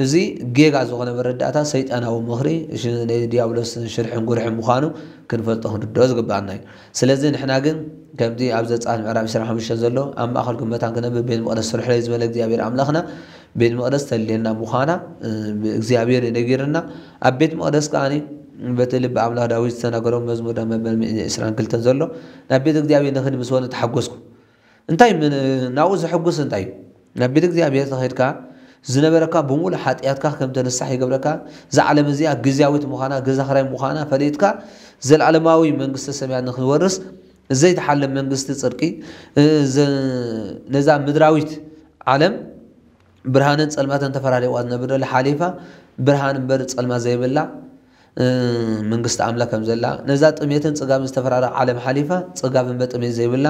እዚ ጌጋ ዝኾነ መረዳእታ ሰይጣናዊ ምኽሪ፣ ሽ-፣ ናይ ዲያብሎስ ሽርሕን ጉርሕን ምዃኑ ክንፈልጦ ክንርድኦ ዝግብኣና እዩ። ስለዚ ንሕና ግን ከምቲ ኣብ ዘጸኣት ምዕራፍ ዕስራን ሓሙሽተን ዘሎ ኣብ ማእከልኩም መታን ክነብር ቤት መቕደስ ስርሑለይ ዝበለ እግዚኣብሔር ኣምላኽና ቤት መቕደስ ተልየና ምዃና፣ እ፣ እግዚኣብሔር እዩ ነጊርና። ኣብ ቤት መቕደስ ከኣ በቲ ልቢ ኣምላኽ ዳዊት ዝተናገሮ መዝሙር መበል ሚእቲ ዕስራን ክልተን ዘሎ ናብ ቤት እግዚኣብሔር ንኽድ ምስ በሉ ተሓጎስኩ። እንታይ ምን ናብኡ ዘሐጉስ እንታይ እዩ? ናብ ቤት እግዚኣብሔር ተኸድካ ዝነበረካ ብምሉእ ሓጢኣትካ ከም ተነሳሕ ይገብረካ። እዛ ዓለም እዚኣ ግዝያዊት ምዃና፣ ገዛ ኽራይ ምዃና ፈሊጥካ፣ ዘለዓለማዊ መንግስተ ሰማያት ንኽንወርስ፣ ዘይተሓለ መንግስቲ ጽድቂ፣ እ፣ ዘ-፣ ነዛ ምድራዊት ዓለም ብርሃንን ጸልማትን ተፈራሪቑዋ ዝነብር ዘሎ ሓሊፋ፣ ብርሃን እምበር ጸልማት ዘይብላ፣ እ፣ መንግስቲ ኣምላኽ ከም ዘላ፣ ነዛ ጥሜትን ጽጋብን ዝተፈራረቐ ዓለም ሓሊፋ፣ ጽጋብ እምበር ጥሜት ዘይብላ፣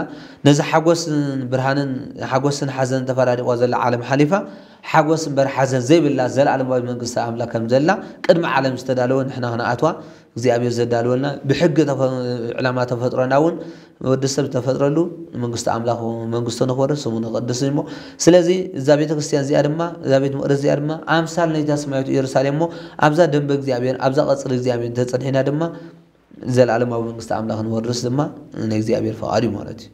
ነዛ ሓጎስን ብርሃንን፣ ሓጎስን ሓዘንን ተፈራሪቑዋ ዘላ ዓለም ሓሊፋ፣ ሓጎስ እምበር ሓዘን ዘይብላ ዘለኣለማዊ መንግስቲ ኣምላኽ ከም ዘላ፣ ቅድሚ ዓለም ዝተዳለወ ንሕና ክንኣትዋ እግዚኣብሔር ዘዳለወልና፣ ብሕጊ ተፈ-፣ ዕላማ ተፈጥሮና እውን ወዲ ሰብ ዝተፈጥረሉ መንግስቲ ኣምላኽ መንግስቱ ንኽወርስ ስሙ ንቕድስ እሞ፣ ስለዚ እዛ ቤተ ክርስቲያን እዚኣ ድማ፣ እዛ ቤት መቕደስ እዚኣ ድማ ኣምሳል ናይታ ሰማያዊት ኢየሩሳሌም እሞ፣ ኣብዛ ደንበ እግዚኣብሔር፣ ኣብዛ ቀጽሪ እግዚኣብሔር እንተጸኒሕና ድማ፣ ዘለኣለማዊ መንግስቲ ኣምላኽ ንወርስ ድማ ናይ እግዚኣብሔር ፈቓድ እዩ ማለት እዩ።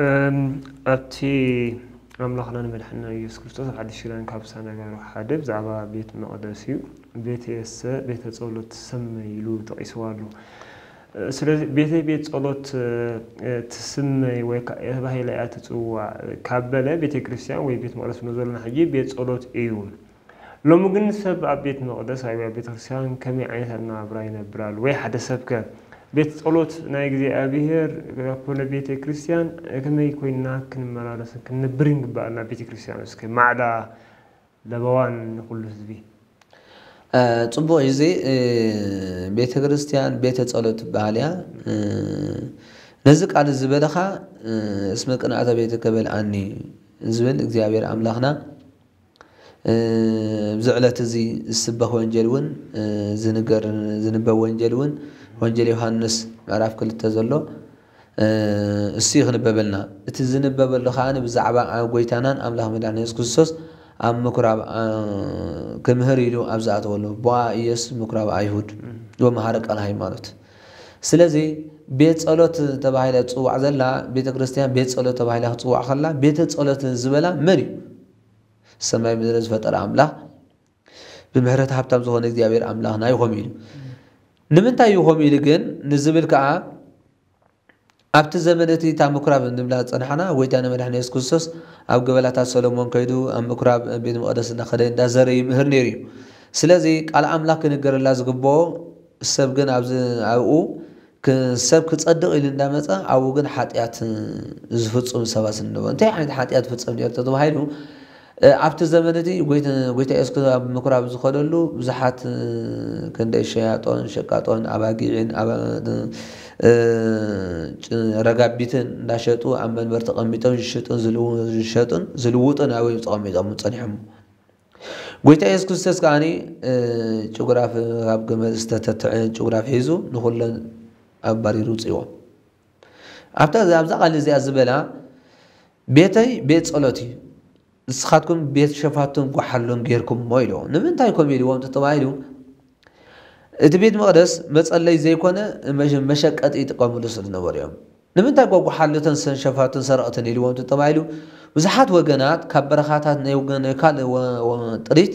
እም፣ ኣብቲ ኣምላኽናን መድሓንና ኢየሱስ ክርስቶስ ኣብ ሓድሽ ኪዳን ካብ ዝተነገሩ ሓደ ብዛዕባ ቤት መቕደስ እዩ። ቤትየሰ ቤተ ጸሎት ትሰመይ ኢሉ ጠቒስዋ ኣሎ። እ፣ ስለዚ ቤተይ ቤት ጸሎት፣ እ፣ ትስመይ ወይ ከኣ ተባሂላ እያ ትጽዋዕ ካብ በለ፣ ቤተ ክርስቲያን ወይ ቤት መቕደስ ንብሎ ዘለና ሕጂ ቤት ጸሎት እዩ። ሎሚ ግን ሰብ ኣብ ቤት መቕደስ ወይ ኣብ ቤተ ክርስቲያን ከመይ ዓይነት ኣነባብራ ይነብር ኣሎ? ወይ ሓደ ሰብከ ቤት ጸሎት ናይ እግዚኣብሔር ኮነ ቤተ ክርስቲያን ከመይ ኮይንና ክንመላለስን ክንነብርን ይግበኣና? ቤተ ክርስቲያን እስከ ማዕዳ ለበዋን ንኹሉ ህዝቢ። እ፣ ጽቡቕ እዩ። እዚ፣ እ፣ ቤተ ክርስቲያን ቤተ ጸሎት ትበሃል እያ። እ፣ ነዚ ቃል እዚ ዝበለኻ፣ እ፣ እስመ ቅንኣተ ቤትከ በልዓኒ ዝብል እግዚኣብሔር ኣምላኽና፣ እ፣ ኣብዚ ዕለት እዚ ዝስበኽ ወንጀል እውን፣ እ፣ ዝንገር፣ ዝንበብ ወንጀል እውን ወንጀል ዮሃንስ ምዕራፍ ክልተ ዘሎ፣ እ፣ እሱ እዩ ክንበበልና። እቲ ዝንበበሉ ከኣ ብዛዕባ ኣብ ጎይታናን ኣምላኽ መድሓኒ የሱስ ክርስቶስ ኣብ ምኩራብ፣ እ፣ ክምህር ኢሉ ኣብ ዝኣተወሉ፣ ቦአ ኢየሱስ ምኩራብ ኣይሁድ እም። ወመሃረ ቃል ሃይማኖት። ስለዚ ቤት ጸሎት ተባሂላ ትጽዋዕ ዘላ፣ ቤተ ክርስቲያን ቤት ጸሎት ተባሂላ ክትጽዋዕ ከላ፣ ቤተ ጸሎት ዝበላ መን እዩ? ሰማይ ምድሪ ዝፈጠረ ኣምላኽ፣ ብምሕረት ሃብታም ዝኾነ እግዚኣብሔር ኣምላኽና ይኾም ኢሉ። ንምንታይ ይኾም ኢሉ ግን ንዝብል ከኣ፣ ኣብቲ ዘመን እቲ እታ ምኩራብ እንብላ ዝጸናሕና፣ ጎይታና መድሓኒ የሱስ ክርስቶስ ኣብ ገበላታት ሰሎሞን ከይዱ ኣብ ምኩራብ ቤት መቕደስ እናኸደ እንዳዘረ ይምህር ነይሩ እዩ። ስለዚ ቃል ኣምላኽ ክንገረላ ዝግብኦ ሰብ ግን ኣብዚ ኣብኡ ክ-፣ ሰብ ክጸድቕ ኢሉ እንዳመጸ ኣብኡ ግን ሓጢኣት ዝፍጽሙ ሰባት ስለ ዝነበሩ፣ እንታይ ዓይነት ሓጢኣት ፍጸም ነይሩ ተባሂሉ፣ እ፣ ኣብቲ ዘመን እቲ ጎይተ-፣ ጎይታ የሱስ ኣብ ምኩራብ ዝኸደሉ ብዙሓት፣ እ፣ ክንደይ ሸያጦን ሸቃጦን ኣባጊዕን ኣባ-፣ እ፣ ጭ-፣ ረጋቢትን እንዳሸጡ ኣብ መንበር ተቐሚጦም ዝሽጡን ዝልው-፣ ዝሸጡን ዝልውጡን ኣብኡ እዮም ተቐሚጦም ጸኒሖም። ጎይታ የሱስ ክርስቶስ ከኣኒ፣ እ፣ ጭጉራፍ ካብ ገመድ ዝተተትዐ ጭጉራፍ ሒዙ ንኹለን ኣባሪሩ ውጽእዎ። ኣብታ፣ ኣብዛ ቃል እዚኣ ዝበላ፣ "ቤተይ ቤት ጸሎት እዩ፣ ንስኻትኩም ቤት ሸፋቱን ጓሓሉን ጌርኩሞ" ኢልዎ። ንምንታይ ከምኡ ኢልዎም ተባሂሉ፣ እቲ ቤት መቕደስ መጸለይ ዘይኮነ መሸ-፣ መሸቀጢ ይጥቀምሉ ስለ ዝነበሩ እዮም። ንምንታይ ጓጓሓሉተን ሰን ሸፋቱን ሰረቕትን ኢልዎም ተባሂሉ፣ ብዙሓት ወገናት ካብ በረኻታት ናይ ወገን ናይ ካልእ ወ-፣ ወ-፣ ጥሪት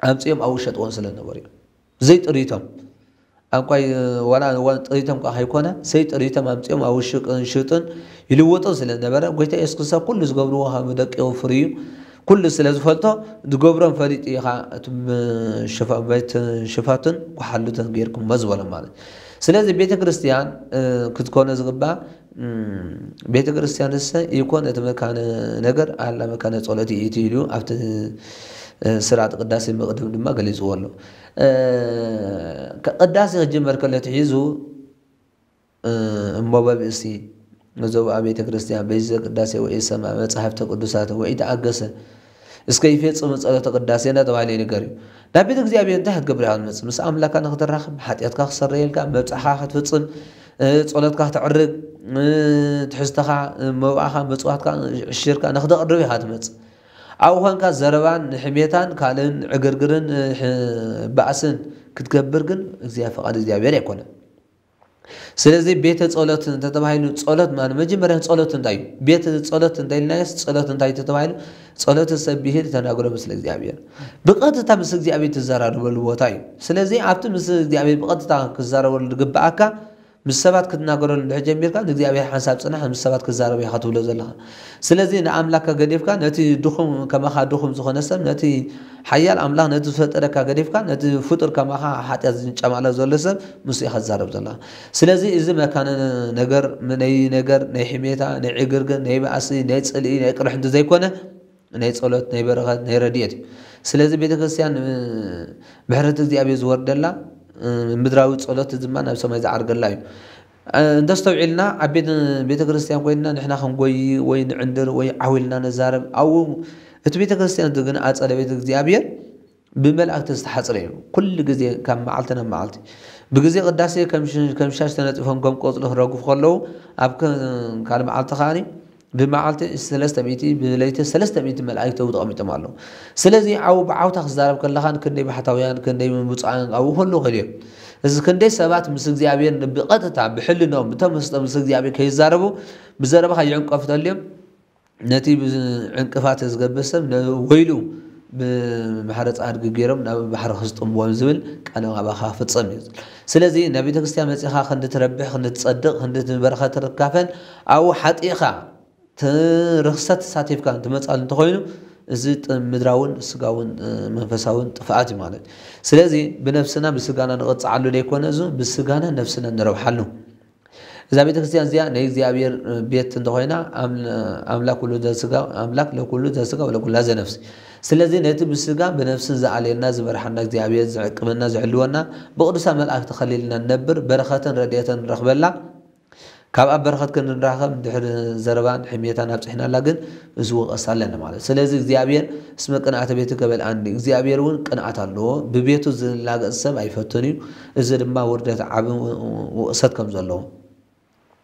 ኣምጺኦም ኣብኡ ይሸጥዎም ስለ ዝነበሩ እዮም። ዘይጥሪቶም። ኣንኳይ ዋላ፣ ዋላ ጥሪቶም ከኣ ከይኮነ፣ ዘይጥሪቶም ኣምጺኦም ኣብኡ ሽቅ-፣ ሽጡን ይልውጡን ስለ ዝነበረ፣ ጎይታ የሱስ ክርስቶስ ኩሉ ዝገብርዎ ከም ደቂቑ ፍርዩ ኩሉ ስለ ዝፈልጦ፣ ዝገብሮም ፈሊጡ እዩ ኸኣ እቲ ም-፣ ሽፋ-፣ ቤት ሽፋቱን ጓሓሉትን ጌርኩሞ ዝበሎም ማለት። ስለዚ ቤተ ክርስቲያን፣ እ፣ ክትኮነ ዝግባእ፣ እም፣ ቤተ ክርስቲያንሰ ይኮን እቲ መካነ ነገር ኣላ መካነ ጸሎት ይእቲ ኢሉ ኣብቲ፣ እ፣ ስርዓተ ቅዳሴ መቕድም ድማ ገሊጽዎ ኣሎ። እ፣ ከ-፣ ቅዳሴ ክጅመር ከሎ ትሒዙ፣ እ፣ እሞ በብእሲ ንዘውኣ ቤተ ክርስቲያን በይዘ ቅዳሴ ወኢሰማ መጻሕፍተ ቅዱሳት ወኢተኣገሰ እስከ ይፌጽም ጸሎተ ቅዳሴ እናተባህለ ይንገር እዩ። ናብ ቤተ እግዚኣብሔር እንታይ ክትገብር ኢኻ ትመጽእ? ምስ ኣምላካ ንክትራኸብ፣ ሓጢኣትካ ክሰረየልካ፣ መብጽዓኻ ክትፍጽም፣ እ፣ ጸሎትካ ክተዕርግ፣ እ፣ ትሕዝተኻ፣ እ፣ መብኣኻ፣ መጽዋትካ፣ ዕሽርካ ንክተቕርብ ኢኻ ትመጽእ። ኣብኡ ኾንካ ዘረባን ሕሜታን ካልእን ዕግርግርን፣ እ፣ ሕ-፣ ባእስን ክትገብር ግን እግዚኣብሔር፣ ፈቓድ እግዚኣብሔር ኣይኮነን። ስለዚ ቤተ ጸሎት እንተተባሂሉ፣ ጸሎት ማለት መጀመርያ ጸሎት እንታይ እዩ? ቤተ ጸሎት እንተኢልናዮስ፣ ጸሎት እንታይ እዩ ተባሂሉ? ጸሎት ሰቢህ ተናግሮ ምስለ እግዚኣብሔር። ብቐጥታ ምስ እግዚኣብሔር ትዘራረበሉ ቦታ እዩ። ስለዚ ኣብቲ ምስ እግዚኣብሔር ብቐጥታ ክዛረበሉ ዝግብኣካ፣ ምስ ሰባት ክትናገረሉ እንድሕር ጀሚርካ፣ ንእግዚኣብሔር ሓንሳብ ጽናሕ፣ ምስ ሰባት ክዛረብ ኢኻ ትብሎ ዘለኻ። ስለዚ ንኣምላኽካ ገዲፍካ፣ ነቲ ድኹም፣ ከማኻ ድኹም ዝኾነ ሰብ፣ ነቲ ሓያል ኣምላኽ፣ ነቲ ዝፈጠረካ ገዲፍካ፣ ነቲ ፍጡር ከማኻ ሓጢኣት ዝንጨማሎ ዘሎ ሰብ፣ ምስ ኢኻ ትዛረብ ዘለኻ። ስለዚ እዚ መካነ ነገር፣ ናይ ነገር፣ ናይ ሕሜታ፣ ናይ ዕግርግር፣ ናይ ባእሲ፣ ናይ ጽልኢ፣ ናይ ቅርሕንቲ ዘይኮነ፣ ናይ ጸሎት፣ ናይ በረኸት፣ ናይ ረድኤት እዩ። ስለዚ ቤተክርስትያን፣ እ፣ ምሕረት እግዚኣብሔር ዝወርደላ፣ እ፣ ምድራዊ ጸሎት ድማ ናብ ሰማይ ዝዓርገላ እዩ። እ፣ እንተስተውዒልና፣ ኣብ ቤት-፣ ቤተክርስትያን ኮይንና ንሕና ክንጎይ ወይ ንዕንድር ወይ ዓው ኢልና ነዛረብ፣ ኣብኡ እቲ ቤተክርስትያን ግን ኣጸደ ቤት እግዚኣብሔር ብመላእክቲ ዝተሓጽረ እዩ። ኩሉ ግዜ ካብ መዓልቲ ናብ መዓልቲ። ብግዜ ቅዳሴ ከም ሽ-፣ ከም ሻሽ ተነጺፎም ከም ቆጽሊ ክረግፉ ከለዉ፣ ኣብ ከ-፣ ካልእ መዓልቲ ከኣኒ ብመዓልቲ ሰለስተ ሚእቲ፣ ብለይቲ ሰለስተ ሚእቲ መላእክቲ ኣብኡ ተቐሚጦም ኣለዉ። ስለዚ ዓው ብዓውታ ክዛረብ ከለኻን ክንደይ ባሕታውያን፣ ክንደይ ብፁዓን ኣብኡ ክህልዉ ይኽእሉ እዮም። እዚ ክንደይ ሰባት ምስ እግዚኣብሔር ብቐጥታ ብሕልንኦም ብተመስጦ ምስ እግዚኣብሔር ከይዛረቡ ብዘረባኻ ይዕንቀፉ ተልዮም፣ ነቲ ብዕንቅፋት ዝገብር ሰብ ነ-፣ ወይሉ ብማሕረ ጻድቂ ገይሮም ናብ ባሕሪ ክስጥምዎም ዝብል ቃል ኣባኻ ክፍጸም እዩ። ስለዚ ናብ ቤተ ክርስቲያን መጺኻ ክንዲ ትረብሕ፣ ክንዲ ትጸድቕ፣ ክንዲ በረኸት ትካፈል፣ ኣብኡ ሓጢእኻ ት-፣ ርኽሰት ተሳቲፍካ ትመጻሉ እንተኾይኑ፣ እዚ ጥ-፣ ምድራውን ስጋውን፣ እ፣ መንፈሳውን ጥፍኣት እዩ ማለት እዩ። ስለዚ ብነፍስና ብስጋና ንቕጽዓሉ ዘይኮነ፣ እዚ ብስጋና ነፍስና ንረብሓሉ። እዛ ቤተ ክርስቲያን እዚኣ ናይ እግዚኣብሔር ቤት እንተኾይና፣ ኣም-፣ ኣምላክ ኩሉ ዘስጋ፣ ኣምላክ ለኩሉ ዘስጋ ወለኩላ ዘነፍስ። ስለዚ ነቲ ብስጋ ብነፍስን ዝኣልየና፣ ዝመርሓና እግዚኣብሔር፣ ዝዕቅበና፣ ዝሕልወና፣ ብቅዱሳን መላእክቲ ተኸሊልና ንነብር፣ በረኸትን ረድኤትን ንረኽበላ። ካብ ኣብ በረኸት ክንራኸብ ድሕሪ ዘረባን ሕሜታን ኣብጽሕናላ ግን እዚ ወቐሳ ኣለና ማለት። ስለዚ እግዚኣብሔር እስመ ቅንኣተ ቤትከ በልዓኒ፣ እግዚኣብሔር እውን ቅንኣት ኣለዎ፣ ብቤቱ ዝላገጽ ሰብ ኣይፈቱን እዩ። እዚ ድማ ውርደት ዓቢ ውቕሰት ከም ዘለዎ።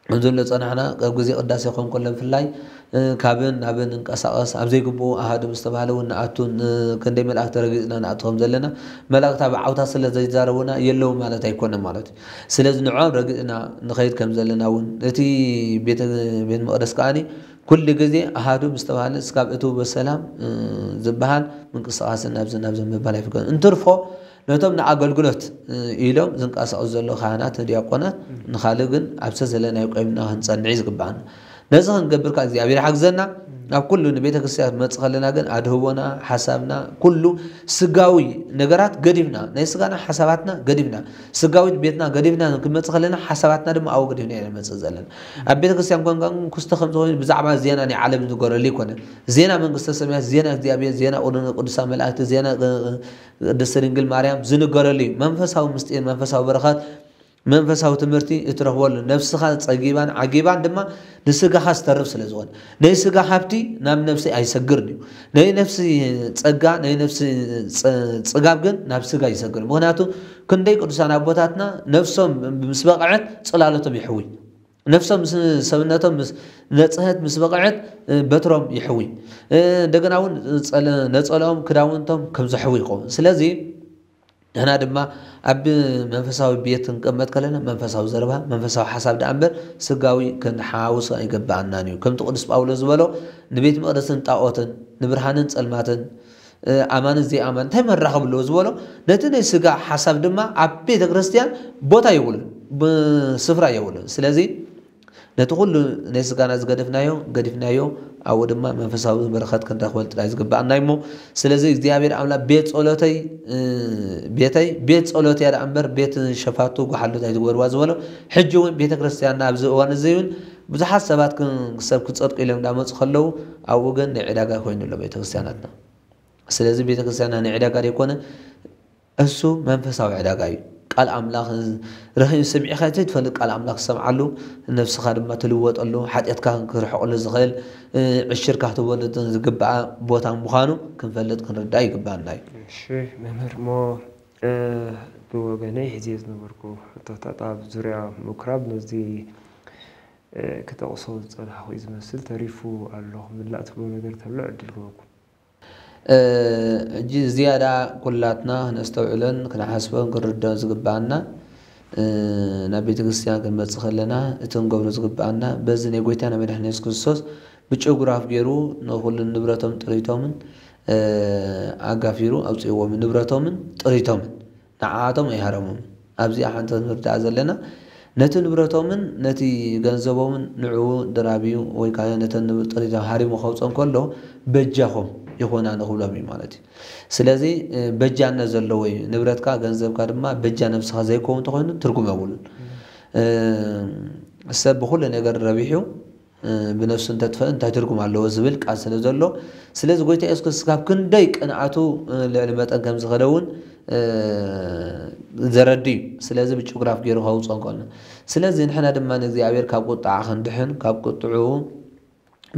ከምዚ ንብሎ ጸናሕና፣ ኣብ ግዜ ቅዳሴ ክኸውን ከሎ ብፍላይ፣ እ፣ ካብን ናብን ንንቀሳቐስ፣ ኣብ ዘይግብኡ ኣሃዱ ምስ ተባህለ እውን ንኣቱ፣ ን-፣ ክንደይ መላእክቲ ረጊጽና ንኣቱ ከም ዘለና፣ መላእክቲ ኣብ ዓውታ ስለ ዘይዛረቡና የለዉ ማለት ኣይኮነን ማለት እዩ። ስለዚ ንዕኦም ረጊጽና ንኸይድ ከም ዘለና እውን፣ እቲ ቤተ፣ ቤት መቕደስ ከኣኒ ኩሉ ግዜ ኣሃዱ ምስ ተባህለ እስካብ እትዉ በሰላም፣ እ፣ ዝበሃል ምንቅስቓስን ናብዚ ናብዚ ምባል ኣይፍቀድን። እንትርፎ ነቶም ንኣገልግሎት፣ እ፣ ኢሎም ዝንቀሳቐሱ ዘለዉ ካህናት፣ ዲያቆናት፣ ንኻልእ ግን ኣብ ዘበለናዮ ቆይምና ክንጸንዕ እዩ ዝግብኣና። ነዚ ክንገብር ከኣ እግዚኣብሔር ይሓግዘና። ኣብ ኩሉ ንቤተ ክርስቲያን ክንመጽእ ከለና ግን ኣድህቦና፣ ሓሳብና፣ ኩሉ ስጋዊ ነገራት ገዲፍና፣ ናይ ስጋና ሓሳባትና ገዲፍና፣ ስጋዊት ቤትና ገዲፍና ክንመጽእ ከለና ሓሳባትና ድማ ኣብኡ ገዲፍና ኢና ንመጽእ ዘለና። ኣብ ቤተ ክርስቲያን ኮንካ ግን ክስተ ከም ዝኾነ ብዛዕባ ዜና ናይ ዓለም ዝንገረሉ ኣይኮነን። ዜና መንግስተ ሰማያት፣ ዜና እግዚኣብሔር፣ ዜና ቅዱሳን መላእክቲ፣ ዜና፣ እ፣ ቅድስቲ ድንግል ማርያም ዝንገረሉ እዩ። መንፈሳዊ ምስጢር፣ መንፈሳዊ በረኸት፣ መንፈሳዊ ትምህርቲ እትረኽበሉ፣ ነፍስኻ ጸጊባን ዓጊባን ድማ ንስጋኻ ዝተርፍ ስለ ዝኾነ፣ ናይ ስጋ ሃብቲ ናብ ነፍሲ ኣይሰግርን እዩ። ናይ ነፍሲ ጸጋ፣ ናይ ነፍሲ ጸ-፣ ጽጋብ ግን ናብ ስጋ ይሰግር። ምኽንያቱ ክንደይ ቅዱሳን ኣቦታትና ነፍሶም ምስ በቕዐት ጽላሎቶም ይሕዊ። ነፍሶም ምስ፣ ሰብነቶም ምስ ነጽሀት፣ ምስ በቕዐት፣ እ፣ በትሮም ይሕዊ። እ፣ እንደገና እውን ጸለ-፣ ነጸለኦም፣ ክዳውንቶም ከም ዘሕዊ ይኸውን። ስለዚ ንሕና ድማ ኣብ መንፈሳዊ ቤት ክንቅመጥ ከለና መንፈሳዊ ዘረባ፣ መንፈሳዊ ሓሳብ ደኣ እምበር ስጋዊ ክንሓውስ ኣይገባኣናን እዩ። ከምቲ ቅዱስ ጳውሎስ ዝበሎ፣ "ንቤት መቕደስን ጣኦትን፣ ንብርሃንን ጸልማትን፣ እ፣ ኣማንን ዘይኣማንን እንታይ መራኸቢ ኣለዎ?" ዝበሎ፣ ነቲ ናይ ስጋ ሓሳብ ድማ ኣብ ቤተ ክርስቲያን ቦታ የብሉን፣ ብ-፣ ስፍራ የብሉን። ስለዚ ነቲ ኩሉ ናይ ስጋና ዝገደፍናዮ፣ ገዲፍናዮ፣ ኣብኡ ድማ መንፈሳዊ በረኸት ክንረኽበሉ ጥራይ ዝግብኣና እዩ እሞ፣ ስለዚ እግዚኣብሔር ኣምላኽ ቤት ጸሎተይ፣ እ፣ ቤተይ፣ ቤት ጸሎት እያ ደኣ እምበር ቤት ሸፋቱ ጓሓሉት ኣይትግበርዋ ዝበሎ፣ ሕጂ እውን ቤተ ክርስቲያንና ኣብዚ እዋን እዚ እውን ብዙሓት ሰባት ክን-፣ ሰብ ክጸድቁ ኢሎም እንዳመጹ ከለዉ፣ ኣብኡ ግን ናይ ዕዳጋ ኮይኑ ኣሎ ቤተ ክርስቲያናትና። ስለዚ ቤተ ክርስቲያንና ናይ ዕዳጋ ዘይኮነ፣ እሱ መንፈሳዊ ዕዳጋ እዩ። ቃል ኣምላኽ ረኺብ፣ ሰሚዕኻ ዘይትፈልጥ ቃል ኣምላኽ ትሰምዓሉ፣ ነፍስኻ ድማ ትልወጠሉ፣ ሓጢኣትካ ክርሕቐሉ ዝኽእል፣ እ፣ ዕሽርካ ክትበሉ ዝግባኣ ቦታ ምዃኑ ክንፈልጥ ክንርዳእ ይግባኣና እዩ። እሺ መምህር፣ እሞ፣ እ፣ ብወገነይ ሒዜ ዝነበርኩ ሕቶታት ኣብ ዙርያ ምኩራብ ነዚ፣ እ፣ ክጠቕሶ ዝጸናሕኩ እዩ ዝመስል፣ ተሪፉ ኣሎ ክምላእ ትብሎ ነገር ተሎ ዕድል ክበኩም። እ፣ ሕጂ ዝያዳ ኩላትና ክነስተውዕሎን ክንሓስቦን ክንርድኦን ዝግባኣና፣ ናብ ቤተ ክርስቲያን ክንመጽእ ከለና እቲ ክንገብሮ ዝግብኣና በዚ ናይ ጎይታና መድሓኒ የሱስ ክርስቶስ ብጭጉራፍ ገይሩ ንኹሉ ንብረቶም ጥሪቶምን ኣጋፊሩ ኣውፅእዎም። ንብረቶምን ጥሪቶምን ንዓኣቶም ኣይሃረሞምን። ኣብዚኣ ሓንቲ ክንርዳእ ዘለና ነቲ ንብረቶምን ነቲ ገንዘቦምን ንዕኡ ድራብዩ ወይ ከዓ ነተን ጥሪቶም ሃሪሙ ከውፅኦ እንከሎ በጃኹም ይኹና ንኽብሎም እዩ ማለት እዩ። ስለዚ በጃነት ዘለዎ እዩ። ንብረትካ ገንዘብካ ድማ በጃ ነብስኻ ዘይከውን እንተኾይኑ ትርጉም የብሉን። ሰብ ብኹሉ ነገር ረቢሑ ብነፍሱ እንተጥፈእ እንታይ ትርጉም ኣለዎ ዝብል ቃል ስለ ዘሎ፣ ስለዚ ጎይታ የሱስ ክርስቶስ ካብ ክንደይ ቅንኣቱ ልዕሊ መጠን ከም ዝኸደ እውን ዘረዲ እዩ። ስለዚ ብጭጉራፍ ገይሩ ከውፅኦ እንከሎ፣ ስለዚ ንሕና ድማ ንእግዚኣብሔር ካብ ቁጥዓ ክንድሕን ካብ ቁጥዕኡ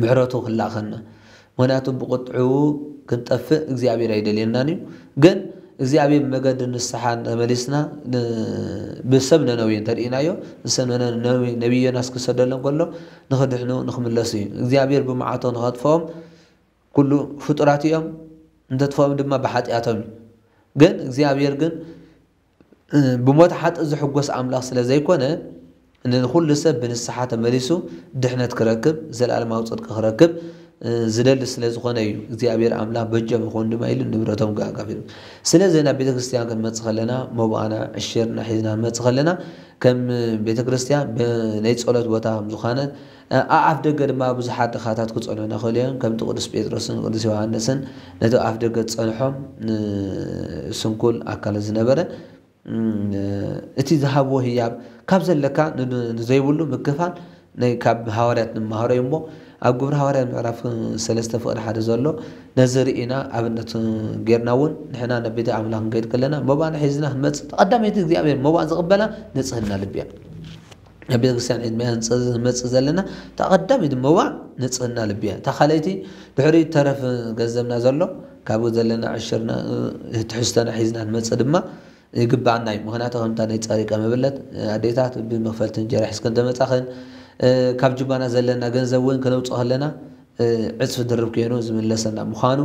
ምሕረቱ ክላእኸና። ምኽንያቱ ብቁጥዕኡ ክንጠፍእ እግዚኣብሔር ኣይደልየናን እዩ። ግን እግዚኣብሔር ብመገዲ ንስሓ ተመሊስና ብሰብ ነነዌ እንተርኢናዮ፣ ንሰብ ነነዌ ነቢይ ዮናስ ክሰደሎም ከሎ ንኽድሕኑ ንኽምለሱ እዩ። እግዚኣብሔር ብመዓቶ ንኸጥፍኦም ኩሉ ፍጡራት እዮም፣ እንተጥፍኦም ድማ ብሓጢኣቶም እዩ። ግን እግዚኣብሔር ግን ብሞት ሓጥእ ዝሕጎስ ኣምላኽ ስለ ዘይኮነ ንኹሉ ሰብ ብንስሓ ተመሊሱ ድሕነት ክረክብ ዘለኣለማዊ ፅድቂ ክረክብ ዝደሊ ስለ ዝኾነ እዩ እግዚኣብሔር ኣምላኽ በጀም ይኹን ድማ ኢሉ ንብረቶም ኣካፊሉ። ስለዚ ናብ ቤተ ክርስቲያን ክንመፅእ ከለና መባኣና ዕሽርና ሒዝና ክንመፅእ ከለና ከም ቤተ ክርስቲያን ናይ ፀሎት ቦታ ከም ዝኾነ ኣኣፍ ደገ ድማ ብዙሓት ድኻታት ክፀንሑና ክእሉ እዮም። ከምቲ ቅዱስ ጴጥሮስን ቅዱስ ዮሃንስን ነቲ ኣፍ ደገ ዝፀንሖም ስንኩል ኣካል ዝነበረ እቲ ዝሃብዎ ህያብ ካብ ዘለካ ንዘይብሉ ምክፋል ናይ ካብ ሃዋርያት ንመሃሮ እዩ እሞ ኣብ ግብሪ ሃዋርያት ምዕራፍ ሰለስተ ፍቕዲ ሓደ ዘሎ ነዚ ርኢና ኣብነት ጌርና እውን ንሕና ናብ ቤተ ኣምላኽ ክንከይድ ከለና መባና ሒዝና ክንመፅእ ቀዳመይቲ እግዚኣብሔር መባእ ዝቕበላ ንፅህና ልቢ እያ። ናብ ቤተክርስትያን ሒዝና ክንመፅእ ዘለና እታ ቀዳመይቲ መባእ ንፅህና ልቢ እያ። እታ ካልኣይቲ ድሕሪ ተረፍ ገንዘብና ዘሎ ካብኡ ዘለና ዕሽርና ትሕዝቶና ሒዝና ንመፅእ ድማ ይግባኣና እዩ። ምኽንያቱ ከምታ ናይ ጸሪቀ መበለት ኣዴታት ብመኽፈልቲ እንጀራ ሒዝክን ተመጻኽን ካብ ጅባና ዘለና ገንዘብ እውን ክነውፅእ ከለና ዕፅፊ ድርብ ኮይኑ ዝምለሰና ምዃኑ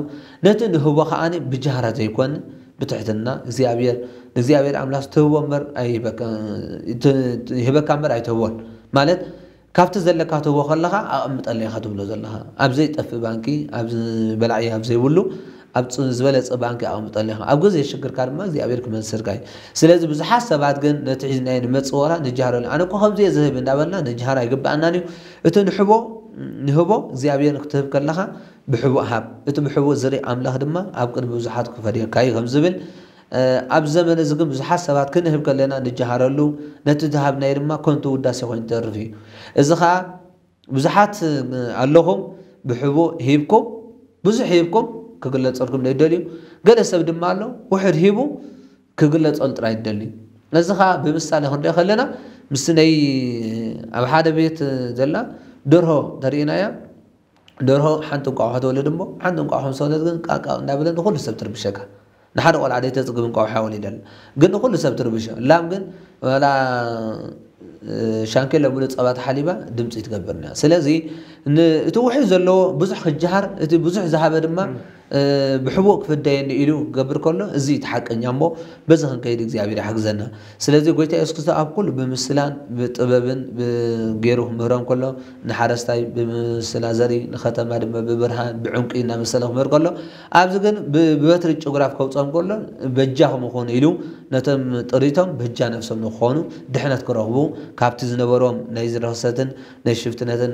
ነቲ ንህቦ ከዓኒ ብጃህራ ዘይኮን ብትሕትና እግዚኣብሔር ንእግዚኣብሔር ኣምላኽ ትህቦ እምበር ይህበካ እምበር ኣይትህቦን ማለት ካብቲ ዘለካ ትህቦ ከለኻ ኣቐምጠለይ ኢኻ ትብሎ ዘለኻ ኣብ ዘይጠፍእ ባንኪ በላዒ ኣብ ዘይብሉ ኣብ ዝበለፀ ባንኪ ኣቐምጠለይ ኢኻ ኣብ ግዜ ሽግርካ ድማ እግዚኣብሔር ክመልሰልካ እዩ ስለዚ ብዙሓት ሰባት ግን ነቲ ሒዝናዮ ንመፅእ ወላ ንጃሃረሉ ኣነ እኮ ከምዚ እየ ዝህብ እንዳበልና ንጃሃር ኣይግበኣናን እዩ እቲ ንሕቦ ንህቦ እግዚኣብሔር ክትህብ ከለኻ ብሕቡእ ሃብ እቲ ብሕቡእ ዝርኢ ኣምላኽ ድማ ኣብ ቅድሚ ብዙሓት ክፈድየካ እዩ ከም ዝብል ኣብ ዘመን እዚ ግን ብዙሓት ሰባት ክንህብ ከለና ንጀሃረሉ ነቲ ዝሃብናዮ ድማ ከንቱ ውዳሴ ኮይኑ ይተርፍ እዩ። እዚ ኸኣ ብዙሓት ኣለኹም ብሕቡእ ሂብኩም ብዙሕ ሂብኩም ክግለጸልኩም ዘይደልዩ ገለ ሰብ ድማ ኣሎ ውሑድ ሂቡ ክግለጸሉ ጥራይ ዝደሊ። ነዚ ኸኣ ብምሳሌ ክንሪኦ ከለና ምስ ናይ ኣብ ሓደ ቤት ዘላ ደርሆ ተርእናያ ደርሆ ሓንቲ እንቋቑሖ ትወልድ እሞ ሓንቲ እንቋቑሖ ምስ ወለድ ግን ቃቃ እንዳበለ ንኹሉ ሰብ ትርብሸካ። ንሓደ ቆልዓ ደይተፅግብ እንቋቑሖ ወሊዳ ኣላ። ግን ንኹሉ ሰብ ትርብሾ። ላም ግን ዋላ ሻንኬለ ሙሉእ ፀባ ተሓሊባ ድምፂ ትገብር እያ። ስለዚ እቲ ውሑድ ዘለዎ ብዙሕ ክጀሃር እቲ ብዙሕ ዝሃበ ድማ ብሕቡእ ክፍደየኒ ኢሉ ክገብር ከሎ እዚ እቲ ሓቀኛ እሞ በዚ ክንከይድ እግዚኣብሔር ይሓግዘና። ስለዚ ጎይታ የሱስ ክርስቶስ ኣብ ኩሉ ብምስላን ብጥበብን ገይሩ ክምህሮም ከሎ ንሓረስታይ ብምስላ ዘርኢ ንኸተማ ድማ ብብርሃን ብዕንቁ እናመሰለ ክምህር ከሎ ኣብዚ ግን ብበትሪ ጭጉራፍ ከውፅኦም ከሎ በጃኹም ይኹኑ ኢሉ ነቶም ጥሪቶም በጃ ነፍሶም ንክኾኑ ድሕነት ክረኽቡ ካብቲ ዝነበሮም ናይ ዝርኽሰትን ናይ ሽፍትነትን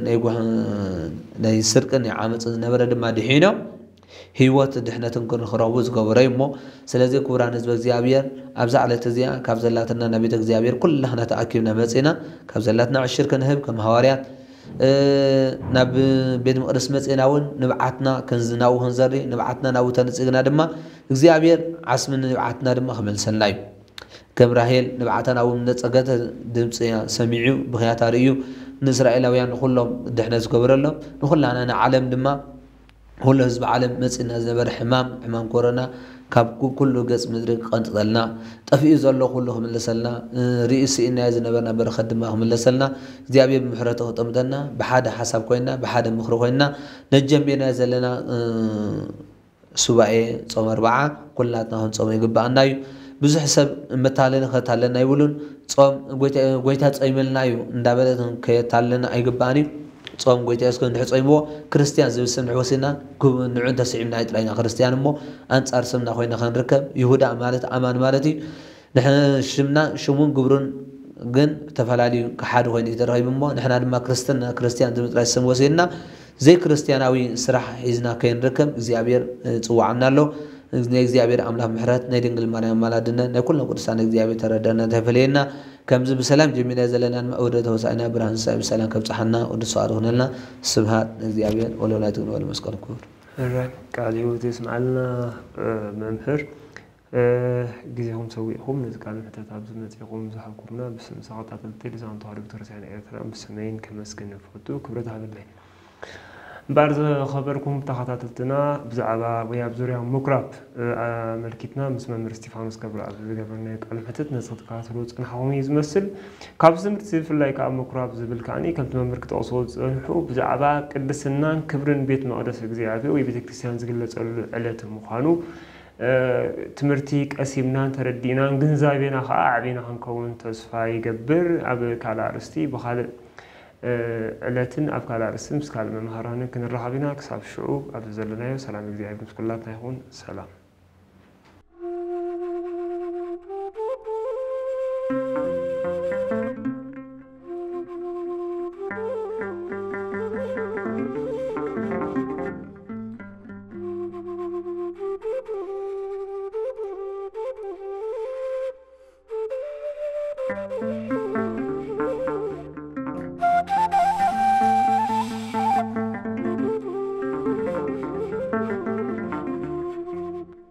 ናይ ስርቅን ናይ ዓመፅን ዝነበረ ድማ ድሒኖም ህይወት ድሕነትን ክንረኽቡ ዝገበረ እዩ እሞ ስለዚ ክቡራን ህዝበ እግዚኣብሔር ኣብዛ ዕለት እዚኣ ካብ ዘላትና ናብ ቤተ እግዚኣብሔር ኩላህና ተኣኪብና መፂና ካብ ዘላትና ዕሽር ክንህብ ከም ሃዋርያት ናብ ቤት መቅደስ መፂና እውን ንብዓትና ናብኡ ክንዘሪ ንብዓትና ናብኡ ተነፂግና ድማ እግዚኣብሔር ዓስሚ ንብዓትና ድማ ክመልሰልና እዩ ከም ራሄል ንብዓታ ናብኡ ምነፀገተ ድምፂ ሰሚዑ ብኽያታ ርእዩ ንእስራኤላውያን ንኩሎም ድሕነት ዝገበረሎም ንኩላና ንዓለም ድማ ኩሉ ህዝቢ ዓለም መፂና ዝነበረ ሕማም ሕማም ኮሮና ካብ ኩሉ ገፅ ምድሪ ክቐንጥጠልና ጠፊኡ ዘሎ ኩሉ ክምለሰልና ርእዩ ስኢናዮ ዝነበርና በረኸት ድማ ክምለሰልና እግዚኣብሔር ብምሕረቱ ክጥምተና ብሓደ ሓሳብ ኮይና ብሓደ ምኽሪ ኮይና ነጀሚርናዮ ዘለና ሱባኤ ፆም ኣርባዓ ኩላትና ክንፀሞ ይግበኣና እዩ። ብዙሕ ሰብ መታለሊ ከታለና ኣይብሉን። ጾም ጎይታ ጾይመልና እዩ እንዳበለ ከየታለና ኣይግባእን እዩ። ጾም ጎይታ የሱስ እንድሕር ጾይምዎ ክርስትያን ዝብል ስም እንድሕር ወሲድና ንዑ እንተስዒብና እዩ ጥራይና ክርስትያን እሞ ኣንጻር ስምና ኮይና ከንርከብ። ይሁዳ ማለት ኣማን ማለት እዩ። ንሕና ሽምና ሽሙን ግብሩን ግን ተፈላለዩ ሓደ ኮይኑ እዩ ተረኺቡ እሞ ንሕና ድማ ክርስትና ክርስትያን ዝብል ጥራይ ስም ወሲድና ዘይክርስቲያናዊ ስራሕ ሒዝና ከይንርከብ እግዚኣብሔር ጽዋዕና ኣሎ። ናይ እግዚኣብሔር ኣምላኽ ምሕረት ናይ ድንግል ማርያም ኣማላድነት ናይ ኩሎም ቅዱሳን እግዚኣብሔር ተረዳና ተፈለየና። ከምዚ ብሰላም ጀሚርና ዘለና ድማ ወደ ተወሳእና ብርሃን ሳይ ብሰላም ከብጽሓና ቅዱስ ሰዓት ይኹነልና። ስብሃት ንእግዚኣብሔር ወለወላዲቱ ንወለ መስቀል ክቡር። ቃል ህይወት የስምዓልና መምህር። ግዜኹም ሰዊእኹም ነዚ ቃል ምሕተት ኣብዚ መጺኹም ዝሃብኩምና ብስም ተኸታተልቲ ልሳን ተዋህዶ ቤተክርስትያን ኤርትራ ብስመይን ከመስግን እፈቱ። ክብረት ሃበለይ። እምበኣር ዝኸበርኩም ተኸታተልትና ብዛዕባ ወይ ኣብ ዙርያ ምኩራብ ኣመልኪትና ምስ መምህር እስጢፋኖስ ገብረኣብ ዝገበርናዮ ቃል ምሕተት ነዚ ክትከታተሉ ዝጸናሕኹም እዩ ዝመስል። ካብዚ ትምህርቲ ብፍላይ ከኣ ምኩራብ ዝብል ከኣ ከምቲ መምህር ክጠቕስዎ ዝጸንሑ ብዛዕባ ቅድስናን ክብርን ቤት መቕደስ እግዚኣብሔር ወይ ቤተክርስትያን ዝግለጸሉ ዕለት ምዃኑ ትምህርቲ ቀሲምናን ተረዲእናን ግንዛቤና ከዓ ኣዕቢና ክንከውን ተስፋ ይገብር። ኣብ ካልእ ኣርእስቲ ብካልእ ዕለትን ኣብ ካልእ ኣርእስቲ ምስ ካልእ መምሃራንን ክንራኸብ ኢና። ክሳብ ሽዑ ኣብዚ ዘለናዮ ሰላም እግዚኣብሔር ምስ ኩላትና ይኹን። ሰላም።